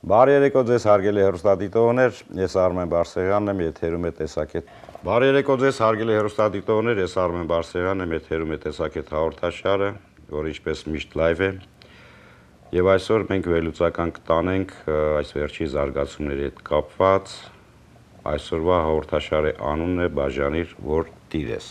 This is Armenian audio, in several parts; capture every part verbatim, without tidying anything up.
Բարի երեկո ձեզ հարգելի հեռուստադիտողներ, ես Արմեն Բարսեղյանն եմ, եթերում է տեսակետ։ Բարի երեկո ձեզ հարգելի հեռուստադիտողներ, ես Արմեն Բարսեղյանն եմ, եթերում է տեսակետ հաղորդաշարը, որը ինչպես միշտ լայվ է։ Եվ այսօր մենք վերլուծական կտանենք այս վերջի զարգացումների հետ կապված, այսօրվա հաղորդաշարի անունն է Բաժանիր, որ տիր ես։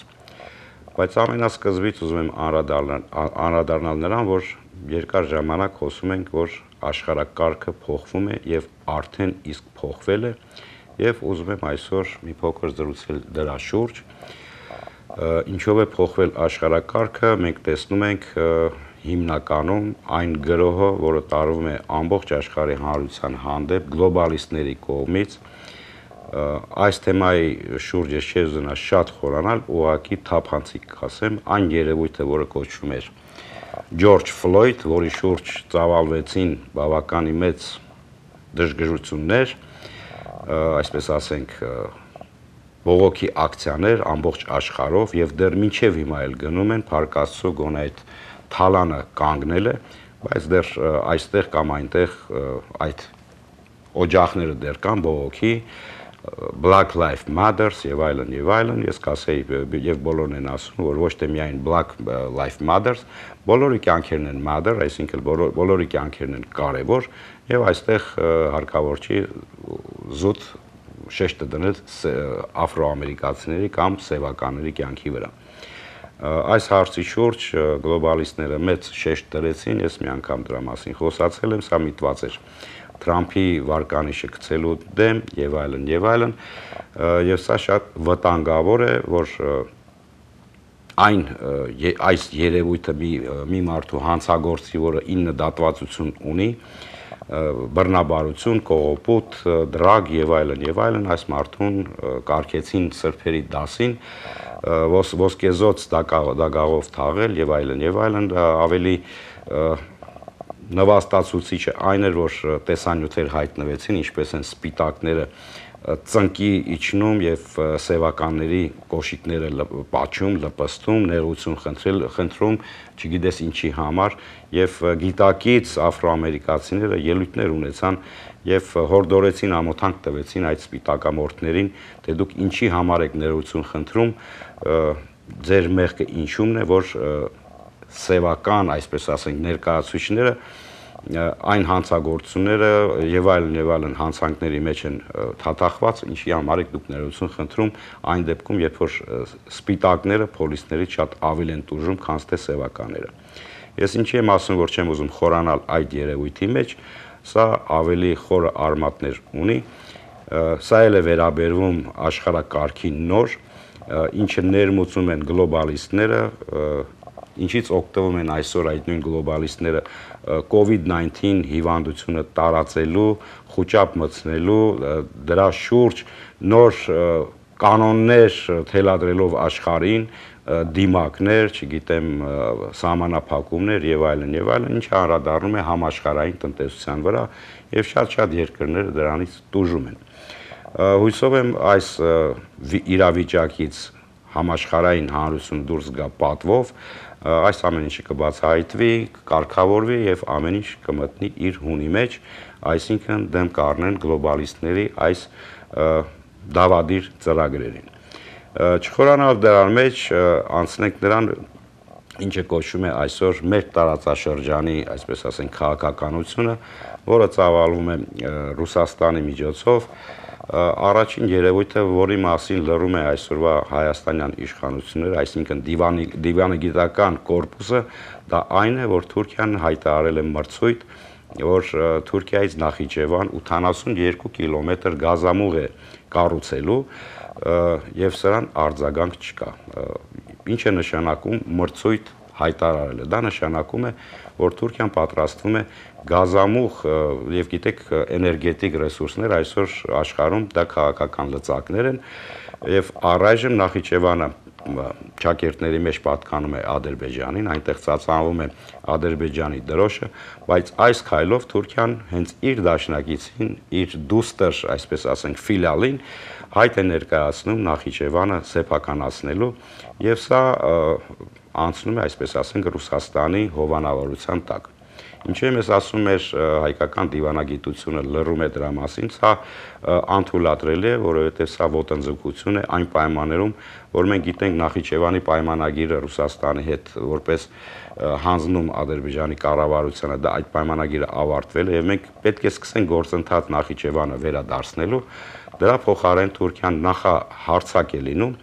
Բայց ամենասկզբից ուզում եմ անդրադառնալ նրան, որ երկար ժամանակ խոսում ենք, որ աշխարհակարգը փոխվում է եւ արդեն իսկ փոխվել է, եւ ուզում եմ այսօր մի փոքր զրուցել դրա շուրջ։ Ինչով է փոխվել աշխարհակարգը, մենք տեսնում ենք հիմնականում այն գրոհը, որը տարվում է ամբողջ աշխարհի հանրության հանդեպ գլոբալիստների կողմից։ Այս թեմայի շուրջ ես չեմ ուզենա շատ խորանալ, ուղղակի թափանցիկ կասեմ, այն երևույթը, որը կոչվում էր Ջորջ Ֆլոյդ, որի շուրջ ծավալվեցին բավականին մեծ դժգժություններ, այսպես ասենք, բողոքի ակցիաներ ամբողջ աշխարհով եւ դեռ մինչեւ հիմա էլ գնում են, Փառք Աստծո, գոնե այդ թալանը կանգնել է, բայց դեռ այստեղ կամ այնտեղ այդ օջախները դեռ կան բողոքի, Black Lives Matters եւ այլն եւ այլն, ես կասեի եւ բոլորն են ասում, որ ոչ թե միայն Black Lives Matters, բոլորի կյանքերն են matter, այսինքն բոլորի կյանքերն են կարևոր եւ այստեղ հարկավոր չի զուտ շեշտը դնել աֆրոամերիկացիների կամ սևականների կյանքի վրա։ Այս հարցի շուրջ գլոբալիստները մեծ շեշտ դրեցին, ես մի անգամ դրա մասին խոսացել եմ, սա միտված էր Թրամփի վարկանիշը գցելու դեմ եւ այլն եւ այլն, եւ սա շատ վտանգավոր է, որ այն այս երևույթը մի մի մարդու հանցագործի, որը ինը դատվածություն ունի, բռնաբարություն, կողոպուտ, դրագ եւ այլն եւ այլն, այս մարդուն կարգեցին սրբերի դասին, ոսկեզոծ դագաղով թաղել եւ այլն եւ այլն, ավելի նվաստացուցիչը այն էր, որ տեսանյութեր հայտնվեցին, ինչպես են սպիտակները ծնկի իջնում եւ սևականների կոշիկները պատճում, լպստում, ներողություն խնդրել, խնդրում, չգիտես ինչի համար, եւ գիտակից աֆրոամերիկացիները ելույթներ ունեցան եւ հորդորեցին, ամոթանք տվեցին այդ սպիտակամորթներին, թե դուք ինչի համար եք ներողություն խնդրում, ձեր մեղքը ինչումն է, որ սևական, այսպես ասենք, ներկայացուցիչները այն հանցագործությունները եւ այլն եւ այլն հանցանքների մեջ են թաթախված, ինչի համար եք դուք ներողություն խնդրում այն դեպքում, երբ որ սպիտակները փոլիսներից շատ ավելի են տուժում, քան թե սևականները։ Ես ինչի եմ ասում, որ չեմ ուզում խորանալ այդ երևույթի մեջ, սա ավելի խորը արմատներ ունի, սա էլ է վերաբերվում աշխարհակարգի նոր, ինչը ներմուծում են գլոբալիստները, ինչից օգտվում են այսօր այդ նույն գլոբալիստները COVID nineteen հիվանդությունը տարածելու, խուճապ մտցնելու, դրա շուրջ նոր կանոններ թելադրելով աշխարհին, դիմակներ, չգիտեմ, սահմանափակումներ եւ այլն եւ այլն, ինչը անդրադառնում է համաշխարհային տնտեսության վրա եւ շատ-շատ երկրները դրանից տուժում են։ Հույսով եմ այս իրավիճակից համաշխարհային հանրությունը դուրս գա պատվով, այս ամեն ինչը կբացահայտվի, կարգավորվի եւ ամեն ինչ կմտնի իր հունի մեջ, այսինքն դեմ կառնեն գլոբալիստների այս դավադիր ծրագրերին։ Չխորանալ դրան մեջ անցնենք նրան, ինչը կոչվում է այսօր մեր տարածաշրջանի, այսպես ասենք, քաղաքականությունը, որը ծավալվում է Ռուսաստանի միջոցով, առաջին երևույթը, որի մասին լռում է այսօրվա հայաստանյան իշխանությունները, այսինքն դիվանագիտական կորպուսը, դա այն է, որ Թուրքիան հայտարարել է մրցույթ, որ Թուրքիայից Նախիջևան ութանասունյոթ կիլոմետր գազամուղ է կառուցելու եւ սրան արձագանք չկա։ Ինչ է նշանակում մրցույթ հայտարարելը։ Դա նշանակում է, որ Թուրքիան պատրաստվում է գազամուղ եւ գիտեք էներգետիկ ռեսուրսներ այսօր աշխարհում դա քաղաքական լծակներ են եւ առայժմ Նախիջևանը ճակերտների մեջ պատկանում է Ադրբեջանին, այնտեղ ծածանվում է Ադրբեջանի դրոշը, բայց այս քայլով Թուրքիան հենց իր դաշնակիցին, իր դուստր, այսպես ասենք, ֆիլիալին հայտ է ներկայացնում Նախիջևանը սեփականացնելու եւ սա անցնում է, այսպես ասենք, Ռուսաստանի հովանավորության տակ։ Ինչու եմ ես ասում էր հայկական դիվանագիտությունը լռում է դրա մասին, սա անթույլատրելի է, որովհետև սա ոտնձգություն է այն պայմաններում, որ մենք գիտենք Նախիջևանի պայմանագիրը Ռուսաստանի հետ որպես հանձնում Ադրբեջանի կառավարությանը, դա այդ պայմանագիրը ավարտվել է եւ մենք պետք է սկսենք գործընթաց Նախիջևանը վերադարձնելու, դրա փոխարեն Թուրքիան նախահարձակ է լինում,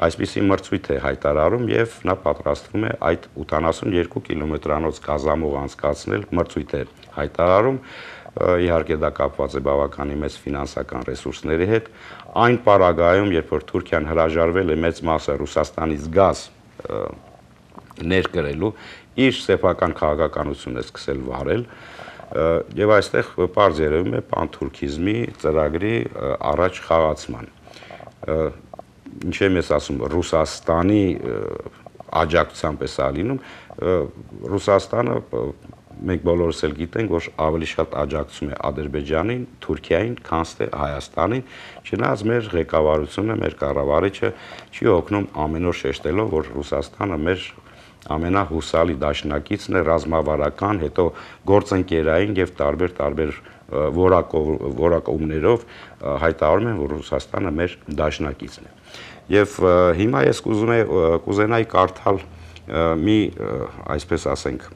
այսպիսի մրցույթ է հայտարարում եւ նա պատրաստվում է այդ ութանասունյոթ կիլոմետրանոց գազամուղ անցկացնել, մրցույթ է հայտարարում, իհարկե դա կապված է բավականին մեծ ֆինանսական ռեսուրսների հետ, այն պարագայում, երբ որ Թուրքիան հրաժարվել է մեծ մասը Ռուսաստանից գազ ներկրելու, իր սեփական քաղաքականությունը սկսել վարել, եւ այստեղ պարզ երևում է պանթուրքիզմի ծրագրի առաջ խաղացման։ Ինչ եմ ես ասում, Ռուսաստանի աջակցությամբ է սա լինում, Ռուսաստանը մենք բոլորս էլ գիտենք, որ ավելի շատ աջակցում է Ադրբեջանին, Թուրքիային, քան թե Հայաստանին, չնայած մեր ղեկավարությունը, մեր կառավարիչը չի օգնում ամեն օր շեշտելով, որ Ռուսաստանը մեր ամենահուսալի դաշնակիցն է, ռազմավարական, հետո գործընկերային եւ տարբեր-տարբեր որակումներով հայտարարում են, որ Ռուսաստանը մեր դաշնակիցն է։ Եվ հիմա ես կուզենայի կարդալ մի, այսպես ասենք,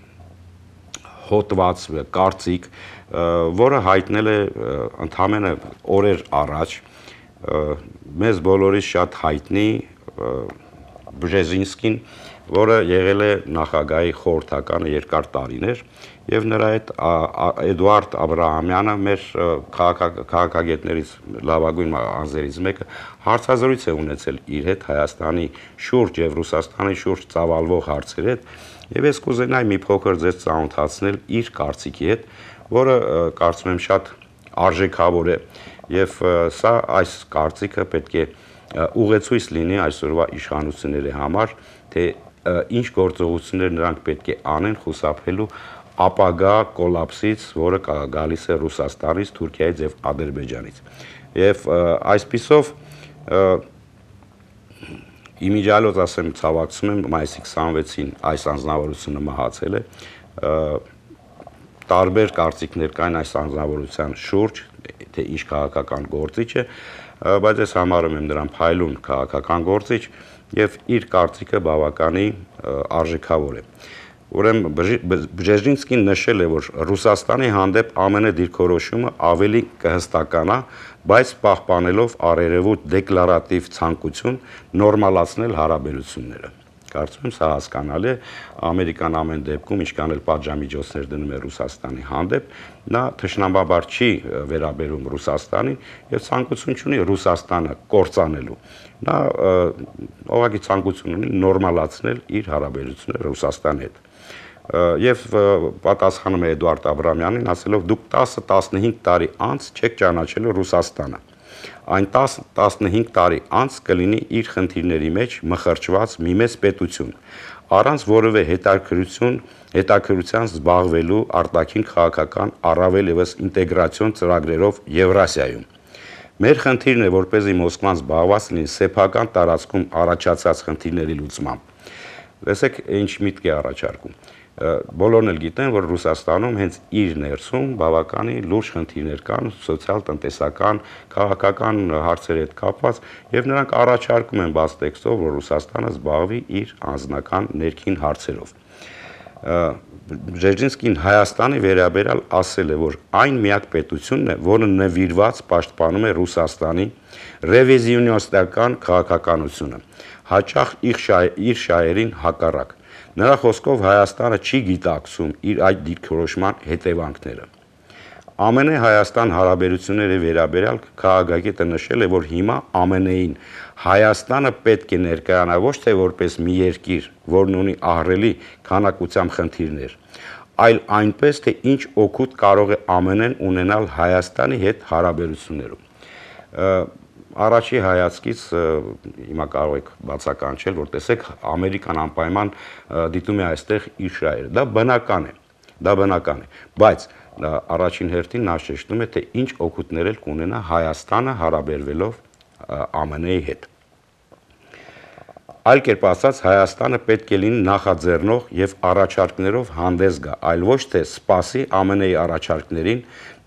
հոտված, կարծիք, որը հայտնել է ընդամենը օրեր առաջ մեզ բոլորից շատ հայտնի Բժեզինսկին, որը եղել է նախագահի խորհրդականը երկար տարիներ, եւ նրա հետ Էդուարդ Աբրահամյանը, մեր քաղաքագետներից լավագույն անձերից մեկը, հարցազրույց է ունեցել իր հետ Հայաստանի շուրջ եւ Ռուսաստանի շուրջ ծավալվող հարցերի հետ, եւ ես կուզենայի մի փոքր ձեզ ծանոթացնել իր կարծիքի հետ, որը կարծում եմ շատ արժեքավոր է, եւ սա այս կարծիքը պետք է ուղեցույց լինի այսօրվա իշխանությունների համար, թե ինչ գործողություններ նրանք պետք է անեն խուսափելու ապագա կոլապսից, որը գալիս է Ռուսաստանից, Թուրքիայից եւ Ադրբեջանից։ Եվ այսպիսով իմիջիալոց ասեմ, ցավակցում եմ, մայիսի քսանվեցին այս անձնավորությունը մահացել է, տարբեր կարծիքներ կային այս անձնավորության շուրջ, թե ինչ քաղաքական գործիչ է, բայց ես համարում եմ նրան փայլուն քաղաքական գործիչ եւ իր կարծիքը բավականի արժեքավոր է։ Ուրեմն Բժեզինսկին նշել է, որ Ռուսաստանի հանդեպ ԱՄՆ դիրքորոշումը ավելի կհստականա, բայց պահպանելով առերևույթ դեկլարատիվ ցանկություն նորմալացնել հարաբերությունները։ Կարծում եմ սա հասկանալի է, Ամերիկան ամեն դեպքում ինչքան էլ պատժամիջոցներ դնում է Ռուսաստանի հանդեպ, նա թշնամաբար չի վերաբերում Ռուսաստանին եւ ցանկություն չունի Ռուսաստանը կործանելու։ Նա ուղղակի ցանկություն ունի նորմալացնել իր հարաբերությունները Ռուսաստանի հետ։ Եվ պատասխանում է Էդուարդ Աբրահամյանին, ասելով դուք տասը տասնհինգ տարի անց չեք ճանաչելու Ռուսաստանը։ Այն տասը տասնհինգ տարի անց կլինի իր խնդիրների մեջ մխրճված մի մեծ պետություն, առանց որևէ հետաքրքրություն, հետաքրքրության զբաղվելու արտաքին քաղաքական առավել եւս ինտեգրացիոն ծրագրերով Եվրասիայում։ Մեր խնդիրն է, որպեսզի Մոսկվան զբաղված լինի սեփական տարածքում առաջացած խնդիրների լուծմամբ։ Տեսեք, ինչ միտք է առաջարկում։ Բոլորն էլ գիտեն, որ Ռուսաստանում հենց իր ներսում բավականին լուրջ խնդիրներ կան, սոցիալ-տնտեսական, քաղաքական հարցերի հետ կապված, եւ նրանք առաջարկում են բաց տեքստով, որ Ռուսաստանը զբաղվի իր անձնական ներքին հարցերով։ Բժեզինսկին Հայաստանի վերաբերյալ ասել է, որ այն միակ պետությունն է, որը նվիրված պաշտպանում է Ռուսաստանի ռևիզիոնիստական քաղաքականությունը, հաճախ իր շահերին հակառակ։ Նրա խոսքով Հայաստանը չի գիտակցում իր այդ դիրքորոշման հետևանքները։ ԱՄՆ Հայաստան հարաբերությունների վերաբերյալ քաղաքագետը նշել է, որ հիմա ԱՄՆ-ին Հայաստանը պետք է ներկայանա ոչ թե որպես մի երկիր, որն ունի ահռելի քանակությամբ խնդիրներ, այլ այնպես, թե ինչ օգուտ կարող է ԱՄՆ-ն ունենալ Հայաստանի հետ հարաբերություններում։ Առաջի հայացքից հիմա կարող եք բացականչել, որ տեսեք Ամերիկան անպայման դիտում է այստեղ իր շահերը։ Դա բնական է, դա բնական է, բայց առաջին հերթին նա շեշտում է, թե ինչ օգուտներ էլ կունենա Հայաստանը հարաբերվելով ԱՄՆ-ի հետ։ Այլ կերպ ասած, Հայաստանը պետք է լինի նախաձեռնող եւ առաջարկներով հանդես գա, այլ ոչ թե սպասի Ամեն Ինչ-ի առաջարկներին,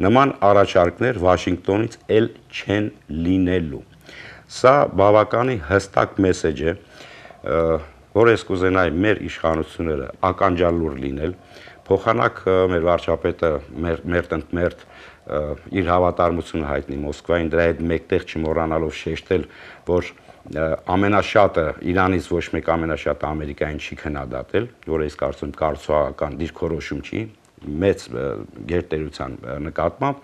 նման առաջարկներ Վաշինգտոնից էլ չեն լինելու։ Սա բավականին հստակ մեսեջ է, որ ես կուզենայի մեր իշխանությունները ականջալուր լինել, փոխանակ մեր վարչապետը մերթ ընդ մերթ իր հավատարմությունը հայտնի Մոսկվային, դրա հետ մեկտեղ չմոռանալով շեշտել, որ ամենաշատը Իրանից ոչ մեկ ամենաշատը Ամերիկային չի քննադատել, որը ես կարծում եմ կառուցողական դիրքորոշում չի, մեծ գերտերության նկատմամբ,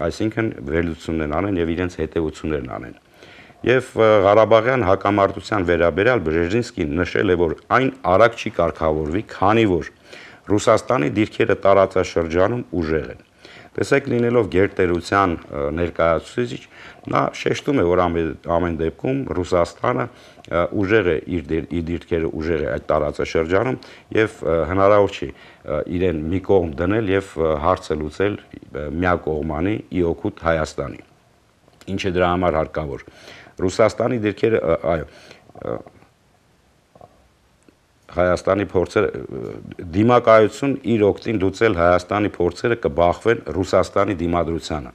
այսինքն վերլուծություններ անեն եւ իրենց հետեւություններն անեն։ Եվ Ղարաբաղյան հակամարտության վերաբերյալ Բրեժինսկին նշել է, որ այն արագ չի կարգավորվի, քանի որ Ռուսաստանի դիրքերը տարածաշրջանում ուժեղ են։ Տեսեք, լինելով գերտերության ներկայացուցիչ, նա շեշտում է, որ ամեն դեպքում Ռուսաստանը ուժեղ է իր դիրքերը ուժեղ է այդ տարածաշրջանում եւ հնարավոր չի իրեն մի կողմ դնել եւ հարցը լուծել միակողմանի ի օգուտ Հայաստանի։ Ինչ է դրա համար հարկավոր։ Ռուսաստանի դիրքերը, այո, Հայաստանի փորձերը դիմակայություն իր օգտին լուծել Հայաստանի փորձերը կբախվեն Ռուսաստանի դիմադրությանը։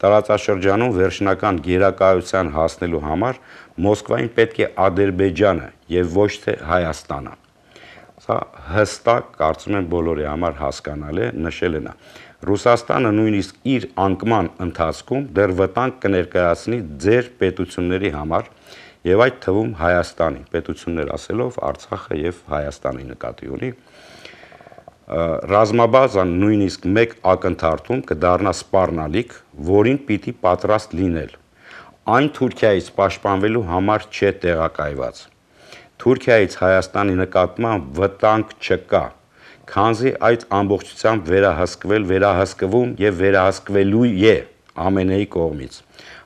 Տարածաշրջանում վերջնական գերակայության հասնելու համար Մոսկվային պետք է Ադրբեջանը եւ ոչ թե Հայաստանը։ Սա հստակ, կարծում եմ բոլորի համար հասկանալի է, նշել է նա։ Ռուսաստանը նույնիսկ իր անկման ընթացքում դեռ վտանգ կներկայացնի ձեր պետությունների համար եւ այդ թվում Հայաստանի պետություններ ասելով Արցախը եւ Հայաստանի նկատի ունի։ Ռազմաբազան նույնիսկ մեկ ակնթարթում կդառնա սպառնալիք, որին պիտի պատրաստ լինել։ Այն Թուրքիայից պաշտպանվելու համար չէ տեղակայված։ Թուրքիայից Հայաստանի նկատմամբ վտանգ չկա, քանզի այդ ամբողջությամբ վերահսկվել, վերահսկվում եւ վերահսկվելու է Ամեն Ինչ-ի կողմից,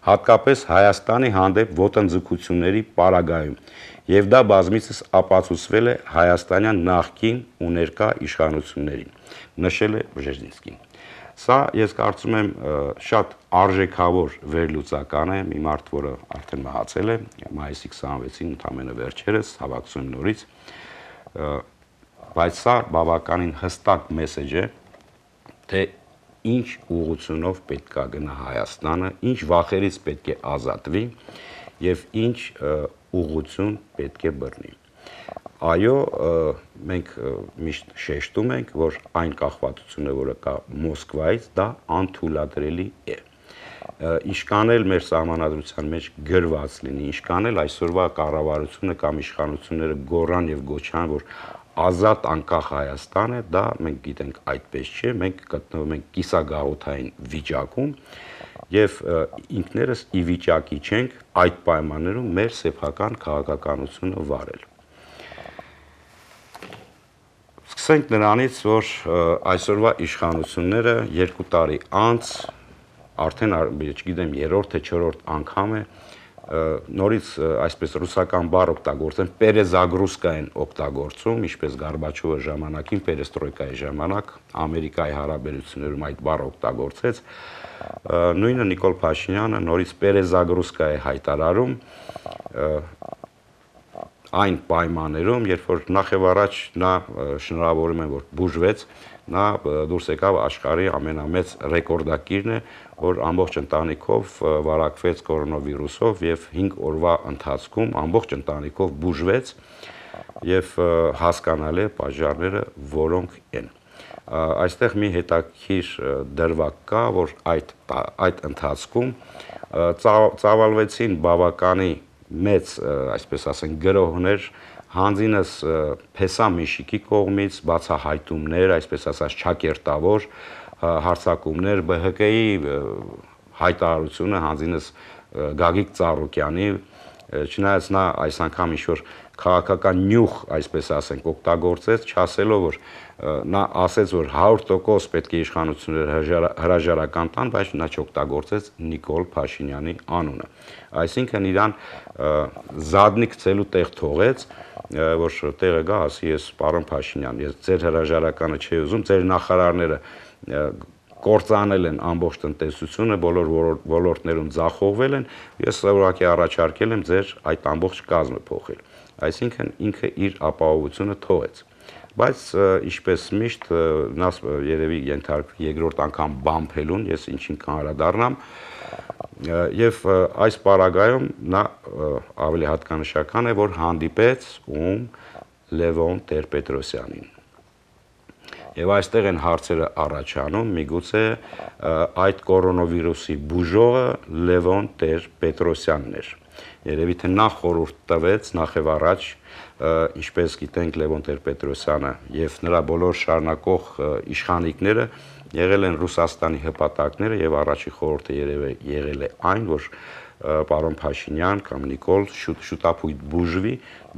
հատկապես Հայաստանի հանդեպ ոտնձգությունների պարագայում, եւ դա բազմիցս ապացուցվել է հայաստանյան նախկին ու ներկա իշխանություններին, նշել է Բժեզինսկին։ Սա ես կարծում եմ շատ արժեքավոր վերլուծական է, մի մարդ, որը արդեն մահացել է, մայիսի քսանվեցին ընդամենը վերջերս, հավաքվում եմ նորից, բայց սա բավականին հստակ մեսեջ է, թե ինչ ուղղությունով պետք է գնա Հայաստանը, ինչ վախերից պետք է ազատվի եւ ինչ ուղղություն պետք է բռնի։ Այո, մենք միշտ շեշտում ենք, որ այն կախվածությունը, որը կա Մոսկվայից, դա անթույլատրելի է։ Ինչքան էլ մեր սահմանադրության մեջ գրված լինի, ինչքան էլ այսօրվա կառավարությունը կամ իշխանությունները գոռան եւ գոչան, որ ազատ անկախ Հայաստան է, դա մենք գիտենք այդպես չէ, մենք գտնվում ենք կիսագաղութային վիճակում եւ ինքներս ի վիճակի չենք այդ պայմաններում մեր սեփական քաղաքականությունը վարել։ Սկսենք նրանից, որ այսօրվա իշխանությունները երկու տարի անց արդեն, չգիտեմ, երրորդ թե չորրորդ անգամ է նորից այսպես ռուսական բառ օգտագործեն, պերեզագրուսկա են օգտագործում, ինչպես Գորբաչովը ժամանակին պերեստրոյկայի ժամանակ Ամերիկայի հարաբերություններում այդ բառը օգտագործեց, նույնը Նիկոլ Փաշինյանը նորից պերեզագրուսկա է հայտարարում այն պայմաններում, երբ որ նախ եւ առաջ նա շնորհավորում են, որ բուժվեց, նա դուրս եկավ աշխարհի ամենամեծ ռեկորդակիրն է, որ ամբողջ ընտանիքով վարակվեց կորոնավիրուսով եւ հինգ օրվա ընթացքում ամբողջ ընտանիքով բուժվեց եւ հասկանալի է պատճառները որոնք են։ Այստեղ մի հետաքրքիր դրվագ կա, որ այդ այդ ընթացքում ծավալվեցին բավականի մեծ, այսպես ասենք, գրոհներ հանձինս Փեսամիշիկի կողմից, բացահայտումներ, այսպես ասած չակերտավոր հարձակումներ, B H K-ի հայտարարությունը հանձինս Գագիկ Ծառուկյանի, չնայած նա այս անգամ ինչ-որ քաղաքական նյուխ, այսպես ասենք, օգտագործեց, չասելով, որ նա ասեց, որ հարյուր տոկոս պետք է իշխանությունները հրաժարական տան, բայց նա չօգտագործեց Նիկոլ Փաշինյանի անունը։ Այսինքն իրան զադնի գցելու տեղ թողեց, որ տեղը գա, ասի ես պարոն Փաշինյան, ես ձեր հրաժարականը չի ուզում, ձեր նախարարները կործանել են ամբողջ տնտեսությունը, բոլոր ոլորտներում ձախողվել են, ես ուղղակի առաջարկել եմ ձեր այդ ամբողջ կազմը փոխել։ Այսինքն ինքը իր ապահովությունը թողեց։ Բայց ինչպես միշտ նա երևի ենթարկվի երկրորդ անգամ բամփելուն, ես ինչին կանդրադառնամ, եւ այս պարագայում նա ավելի հատկանշական է, որ հանդիպեց ում Լևոն Տեր-Պետրոսյանին։ Եվ այստեղ են հարցերը առաջանում, միգուցե այդ կորոնավիրուսի բուժողը Լևոն Տեր-Պետրոսյանն էր։ Երևի թե նա խորհուրդ տվեց նախ եւ առաջ, ինչպես գիտենք, Լևոն Տեր-Պետրոսյանը եւ նրա բոլոր շարունակող իշխանիկները եղել են Ռուսաստանի հպատակները եւ առաջի խորհուրդը երևի եղել է այն, որ պարոն Փաշինյան կամ Նիկոլ շուտապույտ բուժվի,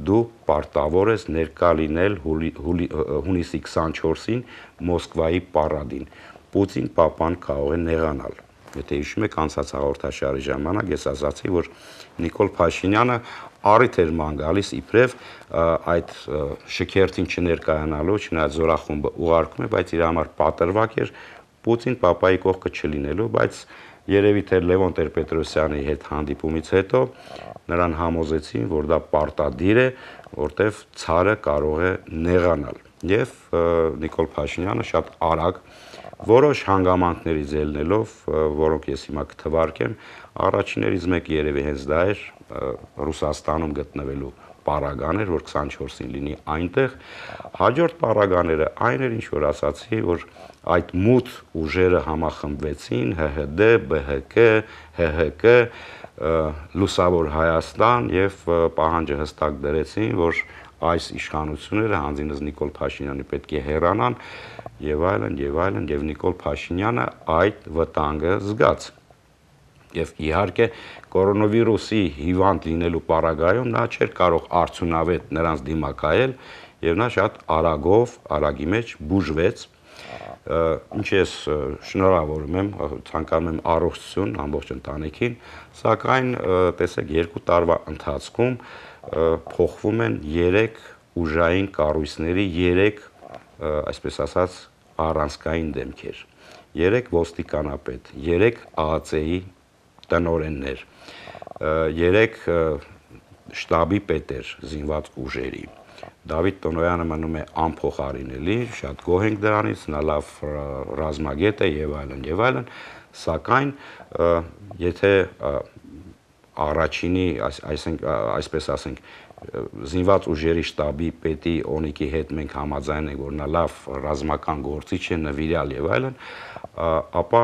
դու պարտավոր ես ներկա լինել հունիսի քսանչորսին Մոսկվայի պարադին։ Պուտին պապան կարող է նեղանալ։ Եթե հիշում եք անցած հաղորդաշարի ժամանակ ես ասացի, որ Նիկոլ Փաշինյանը առիթ էր ման գալիս իբրև այդ շքերթին չներկայանալու, չնայած զորախումբը ուղարկում է, բայց իր համար պատրվակ էր Պուտին պապայի կողքը չլինելու, բայց երևի թե Լևոն Տեր-Պետրոսյանի հետ հանդիպումից հետո նրան համոզեցին, որ դա պարտադիր է, որտեվ ցարը կարող է նեղանալ։ Եվ Նիկոլ Փաշինյանը շատ արագ որոշ հանգամանքներից ելնելով, որոնք ես հիմա կթվարկեմ, առաջիններից մեկը երևի հենց դա էր Ռուսաստանում գտնվելու պարագան էր, որ քսանչորսին լինի այնտեղ։ Հաջորդ պարագաները այն էր, ինչ որ ասացի, որ այդ մութ ուժերը համախմբվեցին, ՀՀԴ, ԲՀԿ, ՀՀԿ, Լուսավոր Հայաստան եւ պահանջը հստակ դրեցին, որ այս իշխանությունները հանձինս Նիկոլ Փաշինյանի պետք է հեռանան եւ այլն եւ այլն եւ Նիկոլ Փաշինյանը այդ վտանգը զգաց։ Եվ իհարկե կորոնավիրուսի հիվանդ լինելու պարագայում նա չէր կարող արդյունավետ նրանց դիմակայել եւ նա շատ արագով, արագի մեջ բուժվեց։ Ինչ ես շնորհավորում եմ, ցանկանում եմ առողջություն ամբողջ ընտանիքին, սակայն տեսեք երկու տարվա ընթացքում փոխվում են երեք ուժային կառույցների երեք, այսպես ասած, առանցքային դեմքեր, երեք ոստիկանապետ, երեք ԱԱՑ-ի տնօրեններ, երեք շտաբի պետեր զինված ուժերի։ Դավիթ Տոնոյանը մնում է անփոխարինելի, շատ գոհ ենք դրանից, նա լավ ռազմագետ է եւ այլն եւ այլն, սակայն եթե առաջինի, այսպես ասենք, զինված ուժերի շտաբի պետի Օնիկի հետ մենք համաձայն ենք, որ նա լավ ռազմական գործիչ է, նվիրյալ եւ այլն, ապա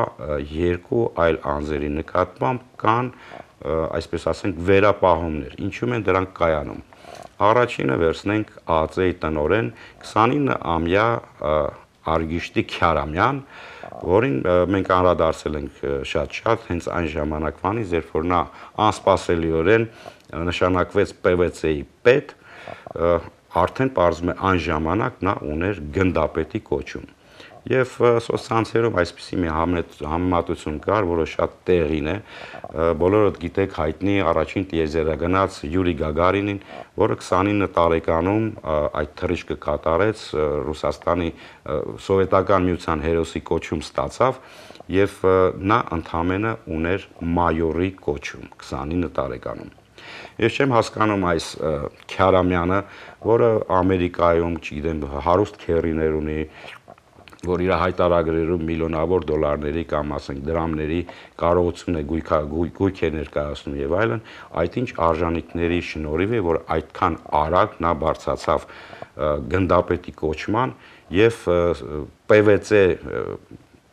երկու այլ անձերի նկատմամբ կան, այսպես ասենք, վերապահումներ, ինչու են դրանք կայանում։ Առաջինը վերցնենք ԱԱՑ-ի տնօրեն քսանինը-ամյա Արգիշտի Քյարամյան, որին մենք անդրադարձել ենք շատ-շատ հենց այն ժամանակվանից, երբ որ նա անսպասելիորեն նշանակվեց ՊՎՑ-ի պետ, արդեն պարզվում է այն ժամանակ նա ուներ գնդապետի կոչում։ Եվ սոցցանցերում այսպիսի մի համեմատություն կար, որը շատ տեղին է, բոլորդ գիտեք հայտնի առաջին տիեզերագնաց Յուրի Գագարինին, որը քսանինը տարեկանում այդ թռիչքը կատարեց, Ռուսաստանի սովետական միության հերոսի կոչում ստացավ եւ նա ընդամենը ուներ մայորի կոչում քսանինը տարեկանում։ Ես չեմ հասկանում այս Քյարամյանը, որը Ամերիկայում, չգիտեմ, հարուստ քերիներ ունի, որ իր հայտարարներում միլիոնավոր դոլարների կամ ասենք դրամների կարողություն է գույք է ներկայացնում եւ այլն, այդ ինչ արժանինքների շնորհիվ է, որ այդքան արագ նա բարձրացավ գնդապետի կոչման եւ ՊՎՑ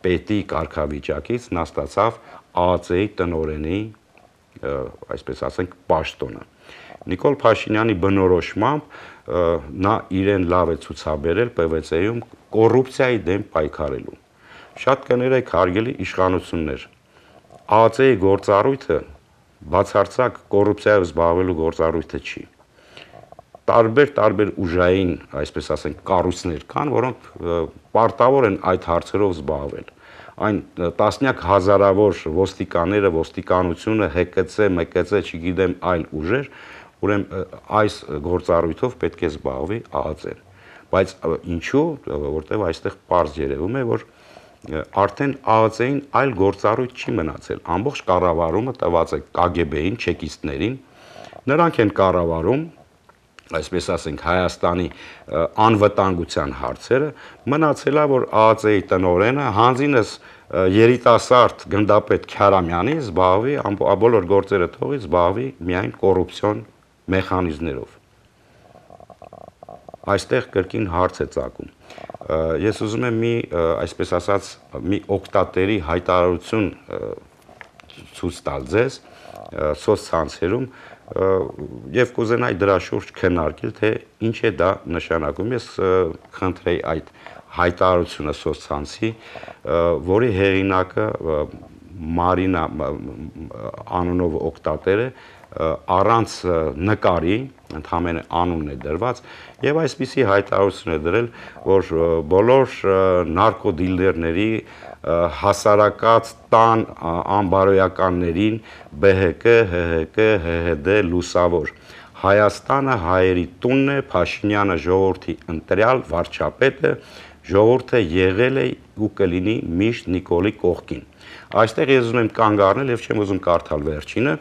պետի կարգավիճակից նա ստացավ ԱԱՑ-ի տնօրենի, այսպես ասենք, պաշտոնը։ Նիկոլ Փաշինյանի բնորոշմամբ նա իրեն լավ է ցուցաբերել ՊՎՑ-ում կոռուպցիայի դեմ պայքարելու։ Շատ կներեք հարգելի իշխանություններ, ԱԱՑ-ի գործառույթը բացարձակ կոռուպցիայով զբաղվելու գործառույթը չի։ Տարբեր-տարբեր ուժային, այսպես ասենք, կառույցներ կան, որոնք պարտավոր են այդ հարցերով զբաղվել։ Այն տասնյակ հազարավոր ոստիկանները, ոստիկանությունը, ՀԿՑ, ՄԿՑ, չգիտեմ, այլ ուժեր, ուրեմն այս գործառույթով պետք է զբաղվի ԱԱՑ-ն։ Բայց ինչու, որտեղ այստեղ պարզ երևում է, որ արդեն ԱԱԾ-ին այլ գործառույթ չի մնացել։ Ամբողջ կառավարումը տված է Կ Գ B-ին, չեկիստներին, նրանք են կառավարում, այսպես ասենք, Հայաստանի անվտանգության հարցերը, մնացել է, որ ԱԱԾ-ի տնօրենը հանձինս երիտասարդ գնդապետ Քյարամյանի զբաղվի, բոլոր գործերը թողի զբաղվի միայն կոռուպցիոն մեխանիզմներով։ Այստեղ կրկին հարց է ծագում։ Ես ուզում եմ մի, այսպես ասած, մի օգտատերի հայտարարություն ցույց տալ ձեզ սոցցանցերում եւ կուզենայի դրա շուրջ քննարկել, թե ինչ է դա նշանակում։ Ես խնդրեի այդ հայտարարությունը սոցցանցի, որի հեղինակը Մարինա անունով օգտատեր է, առանց նկարի, ընդհանրապես անունն է դրված, եւ այսպիսի հայտարարություն է դրել, որ բոլոր նարկոդիլերների հասարակած տան անբարոյականներին B H K, H H K, H H D լուսավոր Հայաստանը հայերի տունն է, Փաշինյանը ժողովրդի ընտրյալ վարչապետը, ժողովուրդը եղել է ու կլինի միշտ Նիկոլի կողքին։ Այստեղ ես ուզում եմ կանգ առնել եւ չեմ ուզում կարդալ վերջինը,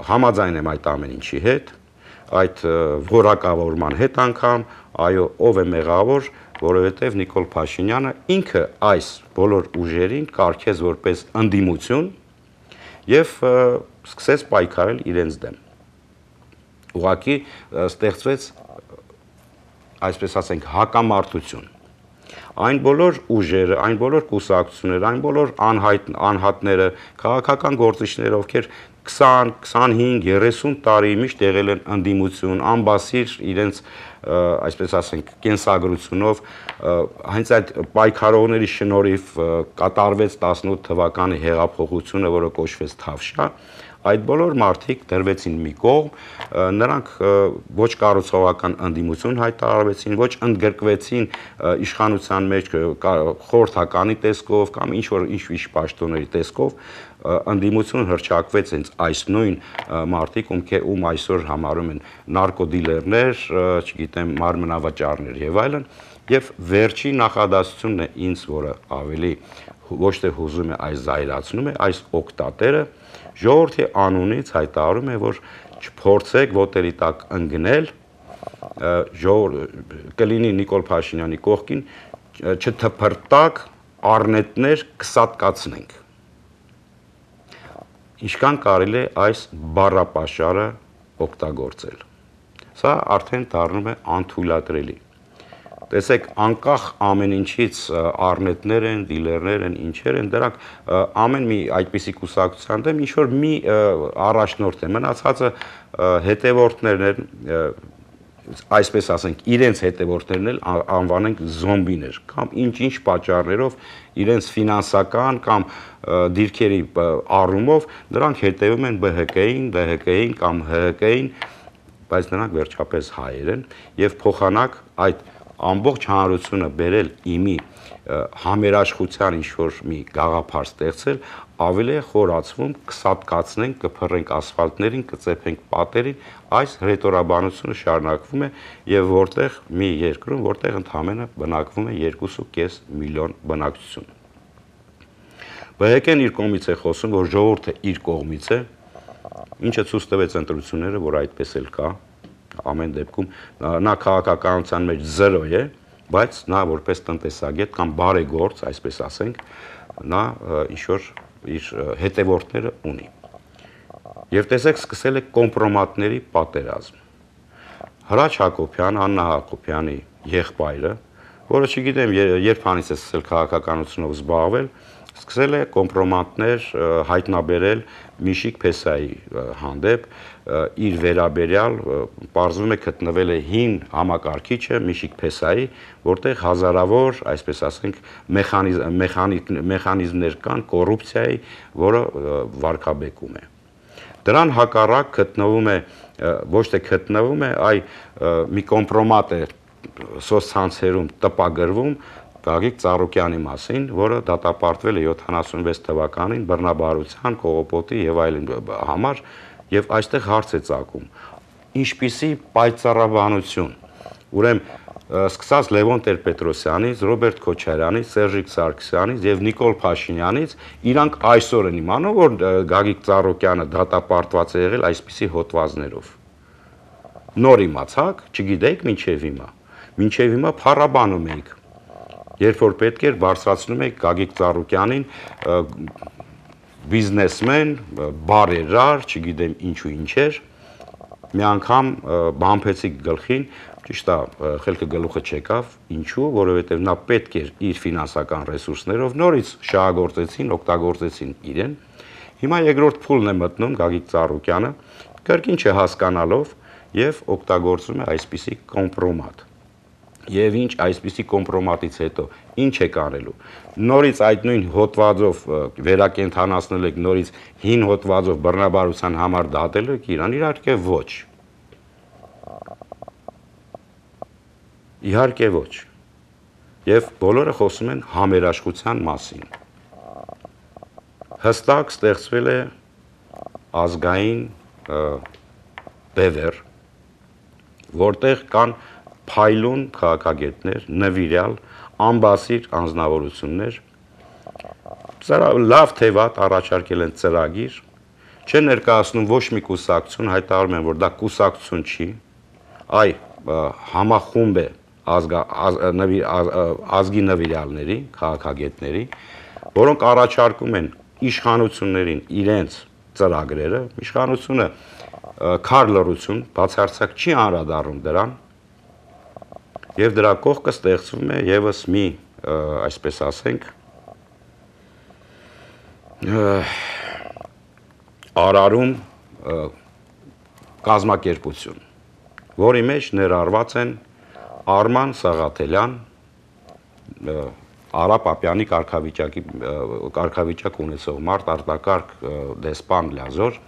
համաձայն եմ այդ ամեն ինչի հետ, այդ որակավորման հետ անգամ, այո, ով է մեղավոր, որովհետեւ Նիկոլ Փաշինյանը ինքը այս բոլոր ուժերին կարգեց որպես ընդդիմություն եւ սկսեց պայքարել իրենց դեմ։ Ուղղակի ստեղծվեց, այսպես ասենք, հակամարտություն։ Այն բոլոր ուժերը, այն բոլոր կուսակցությունները, այն բոլոր անհայտ անհատները, քաղաքական գործիչները, ովքեր քսան, քսանհինգ, երեսուն տարի միշտ եղել են ընդդիմություն, անբասիր իրենց, այսպես ասենք, կենսագրությունով, հենց այդ պայքարողների շնորհիվ կատարվեց տասնութ թվականի հեղափոխությունը, որը կոչվեց Թավշյա, այդ բոլոր մարդիկ դրվեցին մի կողմ, նրանք ոչ կառուցողական ընդդիմություն հայտարարվեցին, ոչ ընդգրկվեցին իշխանության մեջ խորհրդականի տեսքով կամ ինչ որ ինչ-ինչ պաշտոնների տեսքով, ընդդիմություն հռչակվեց հենց այս նույն մարդիկ, ում այսօր համարում են նարկոդիլերներ, չգիտեմ, մարմնավաճառներ եւ այլն, եւ վերջի նախադասությունն է ինձ, որը ավելի ոչ թե հուզում է, այլ զայրացնում է, այս օկտատերը ժողովրդի անունից հայտարարում է, որ չփորձեք ոտերի տակ ընկնել, կլինի Նիկոլ Փաշինյանի կողքին, չթփրտակ առնետներ կսատկացնենք։ Ինչքան կարելի է այս բառապաշարը օգտագործել։ Սա արդեն դառնում է անթույլատրելի։ Տեսեք, անկախ ամեն ինչից առնետներ են, դիլերներ են, ինչեր են, դրանք ամեն մի այդպիսի կուսակցության դեմ ինչ որ մի առաջնորդ է, մնացածը հետևորդներն են, այսպես ասենք, իրենց հետևորդներն էլ անվանենք զոմբիներ, կամ ինչ-ինչ պատճառներով իրենց ֆինանսական կամ դիրքերի առումով նրանք հետևում են B H K-ին, D H K-ին կամ H H K-ին, բայց նրանք վերջապես հայեր են եւ փոխանակ այդ ամբողջ հանրությունը բերել իմի համերաշխության ինչ-որ մի գաղափար ստեղծել, ավելի է խորացվում, կսատկացնենք, կփռենք ասֆալտներին, կծեփենք պատերին, այս հռետորաբանությունը շարունակվում է եւ որտեղ մի երկրում, որտեղ ընդհանրապես բնակվում է երկու կես միլիոն բնակչություն։ B H K-ն իր կողմից է խոսում, որ ժողովուրդը իր կողմից է, ինչը ցույց տվեց ընտրությունները, որ այդպես էլ կա, ամեն դեպքում նա քաղաքականության մեջ զրո է, բայց նա որպես տնտեսագետ կամ բարեգործ, այսպես ասենք, նա ինչ-որ իր հետևորդները ունի։ Եվ տեսեք, սկսել է կոմպրոմատների պատերազմ։ Հրաչ Հակոբյան, Աննա Հակոբյանի եղբայրը, որը չգիտեմ, երբ հանից է սկսել քաղաքականությունով զբաղվել, սկսել է կոմպրոմատներ հայտնաբերել Միշիկ Փեսայի հանդեպ, իր վերաբերյալ պարզվում է գտնվել է հին համակարգիչը Միշիկ Փեսայի, որտեղ հազարավոր, այսպես ասենք, մեխանիզմներ կան կոռուպցիայի, որը վարքաբեկում է։ Դրան հակառակ գտնվում է, ոչ թե գտնվում է, այ մի կոմպրոմատ է սոցցանցերում տպագրվում Գագիկ Ծառուկյանի մասին, որը դատապարտվել է յոթանասունվեց թվականին բռնաբարության, կողոպոտի եւ այլն համար, եւ այստեղ հարց է ծագում. ինչպիսի պայծառաբանություն, ուրեմն սկսած Լևոն Տեր-Պետրոսյանից, Ռոբերտ Քոչարյանից, Սերժիկ Սարգսյանից եւ Նիկոլ Փաշինյանից, իրանք այսօր են իմանում, որ Գագիկ Ծառուկյանը դատապարտված է եղել այսպիսի հոդվածներով։ Նոր իմացաք, չգիտեիք մինչև հիմա։ Մինչև հիմա փառաբանում էիք։ Երբ որ պետք էր բարձրացնում էիք Գագիկ Ծառուկյանին բիզնեսմեն, բարերար, չգիտեմ ինչու ինչեր, մի անգամ բամփեցիք գլխին, ճիշտ է, խելքը գլուխը չեկավ, ինչու, որովհետև նա պետք էր իր ֆինանսական ռեսուրսներով նորից շահագործեցին, օգտագործեցին իրեն։ Հիմա երկրորդ փուլն է մտնում Գագիկ Ծառուկյանը, կրկին չհասկանալով եւ օգտագործում է այսպիսի կոմպրոմատ։ Եվ ինչ այսպիսի կոմպրոմատից հետո ինչ է կանելու։ Նորից այդ նույն հոդվածով վերակենդանացնել եք, նորից հին հոդվածով բռնաբարության համար դատել եք իրան, իհարկե ոչ։ Իհարկե ոչ։ Եվ բոլորը խոսում են համերաշխության մասին։ Հստակ ստեղծվել է ազգային բևեռ, որտեղ կան փայլուն քաղաքագետներ, նվիրյալ, անբասիր անձնավորություններ, լավ թե վատ առաջարկել են ծրագիր, չեն ներկայացնում ոչ մի կուսակցություն, հայտարարում են, որ դա կուսակցություն չի, այ համախումբ է ազգի նվիրյալների, քաղաքագետների, որոնք առաջարկում են իշխանություններին իրենց ծրագրերը, իշխանությունը քար լռություն, բացարձակ չի անդրադառնում դրան, եւ դրա կողքը ստեղծվում է եւս մի, այսպես ասենք, արարում կազմակերպություն, որի մեջ ներառված են Արման Սաղաթելյան, Արա Պապյանի կարգավիճակի կարգավիճակ ունեցող մարդ, արտակարգ դեսպան Լյազոր,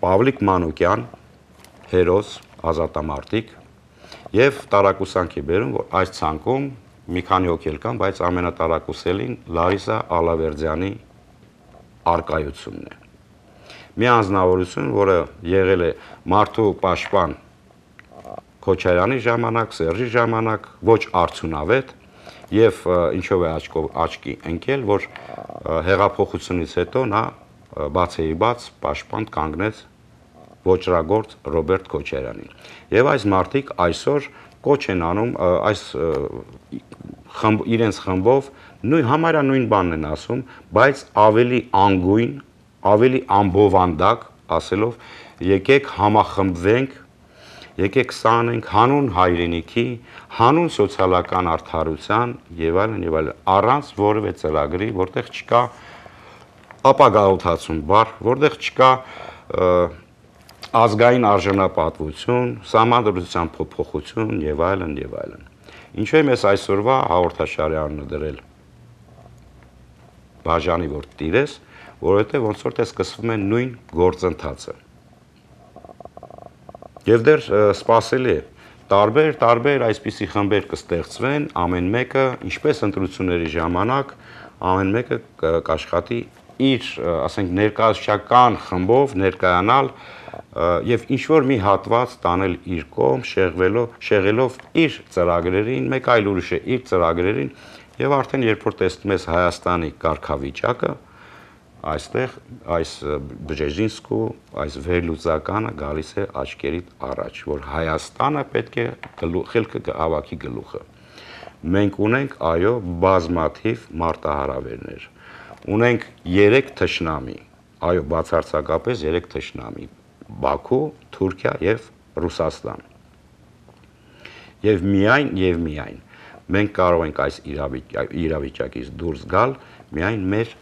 Պավլիկ Մանուկյան, հերոս, ազատամարտիկ, եւ տարակուսանքի բերում, որ այս ցանկում մի քանի հոգի կան, բայց ամենատարակուսելին Լարիսա Ալավերդյանի արկայությունն է։ Մի անձնավորություն, որը եղել է մարդու պաշտպան Քոչարյանի ժամանակ, Սերժի ժամանակ, ոչ արդյունավետ եւ ինչով է աչքի ընկել, որ հեղափոխությունից հետո նա բացեի բաց պաշտպան կանգնեց ոճրագործ Ռոբերտ Քոչարյանին։ Եվ այս մարդիկ այսօր կոչ են անում այս իրենց խմբով նույն համարյա նույն բանն են ասում, բայց ավելի անգույն, ավելի ամբովանդակ, ասելով եկեք համախմբվենք, եկեք սանենք հանուն հայրենիքի, հանուն սոցիալական արդարության եւ այլն եւ այլն, առանց որևէ ծրագրի, որտեղ չկա ապագայության բառ, որտեղ չկա ազգային արժանապատվություն, սահմանադրության փոփոխություն եւ այլն եւ այլն։ Ինչու եմ ես այսօրվա հաղորդաշարի անունը դրել բաժանի որ տիրես, որովհետեւ ոնց որ թե սկսվում է նույն գործընթացը։ Եվ դեռ սպասելի է տարբեր տարբեր այսպիսի խմբեր կստեղծվեն, ամեն մեկը, ինչպես ընտրությունների ժամանակ, ամեն մեկը կաշխատի իր, ասենք, ներկայացչական խմբով ներկայանալ եւ ինչ որ մի հատված տանել իր կողմ, շեղվելով, շեղելով իր ծրագրերին, մեկ այլ ուրիշ է իր ծրագրերին եւ արդեն երբ որ տեսնում ես Հայաստանի կարգավիճակը, այստեղ այս Բժեզինսկու, այս վերլուծականը գալիս է աչքերիդ առաջ, որ Հայաստանը պետք է խելքը հավաքի գլուխը։ Մենք ունենք, այո, բազմաթիվ մարտահրավերներ։ Ունենք երեք թշնամի, այո, բացարձակապես երեք թշնամի. Բաքու, Թուրքիա եւ Ռուսաստան։ Եվ միայն եւ միայն մենք կարող ենք այս իրավիճակից դուրս գալ միայն մեր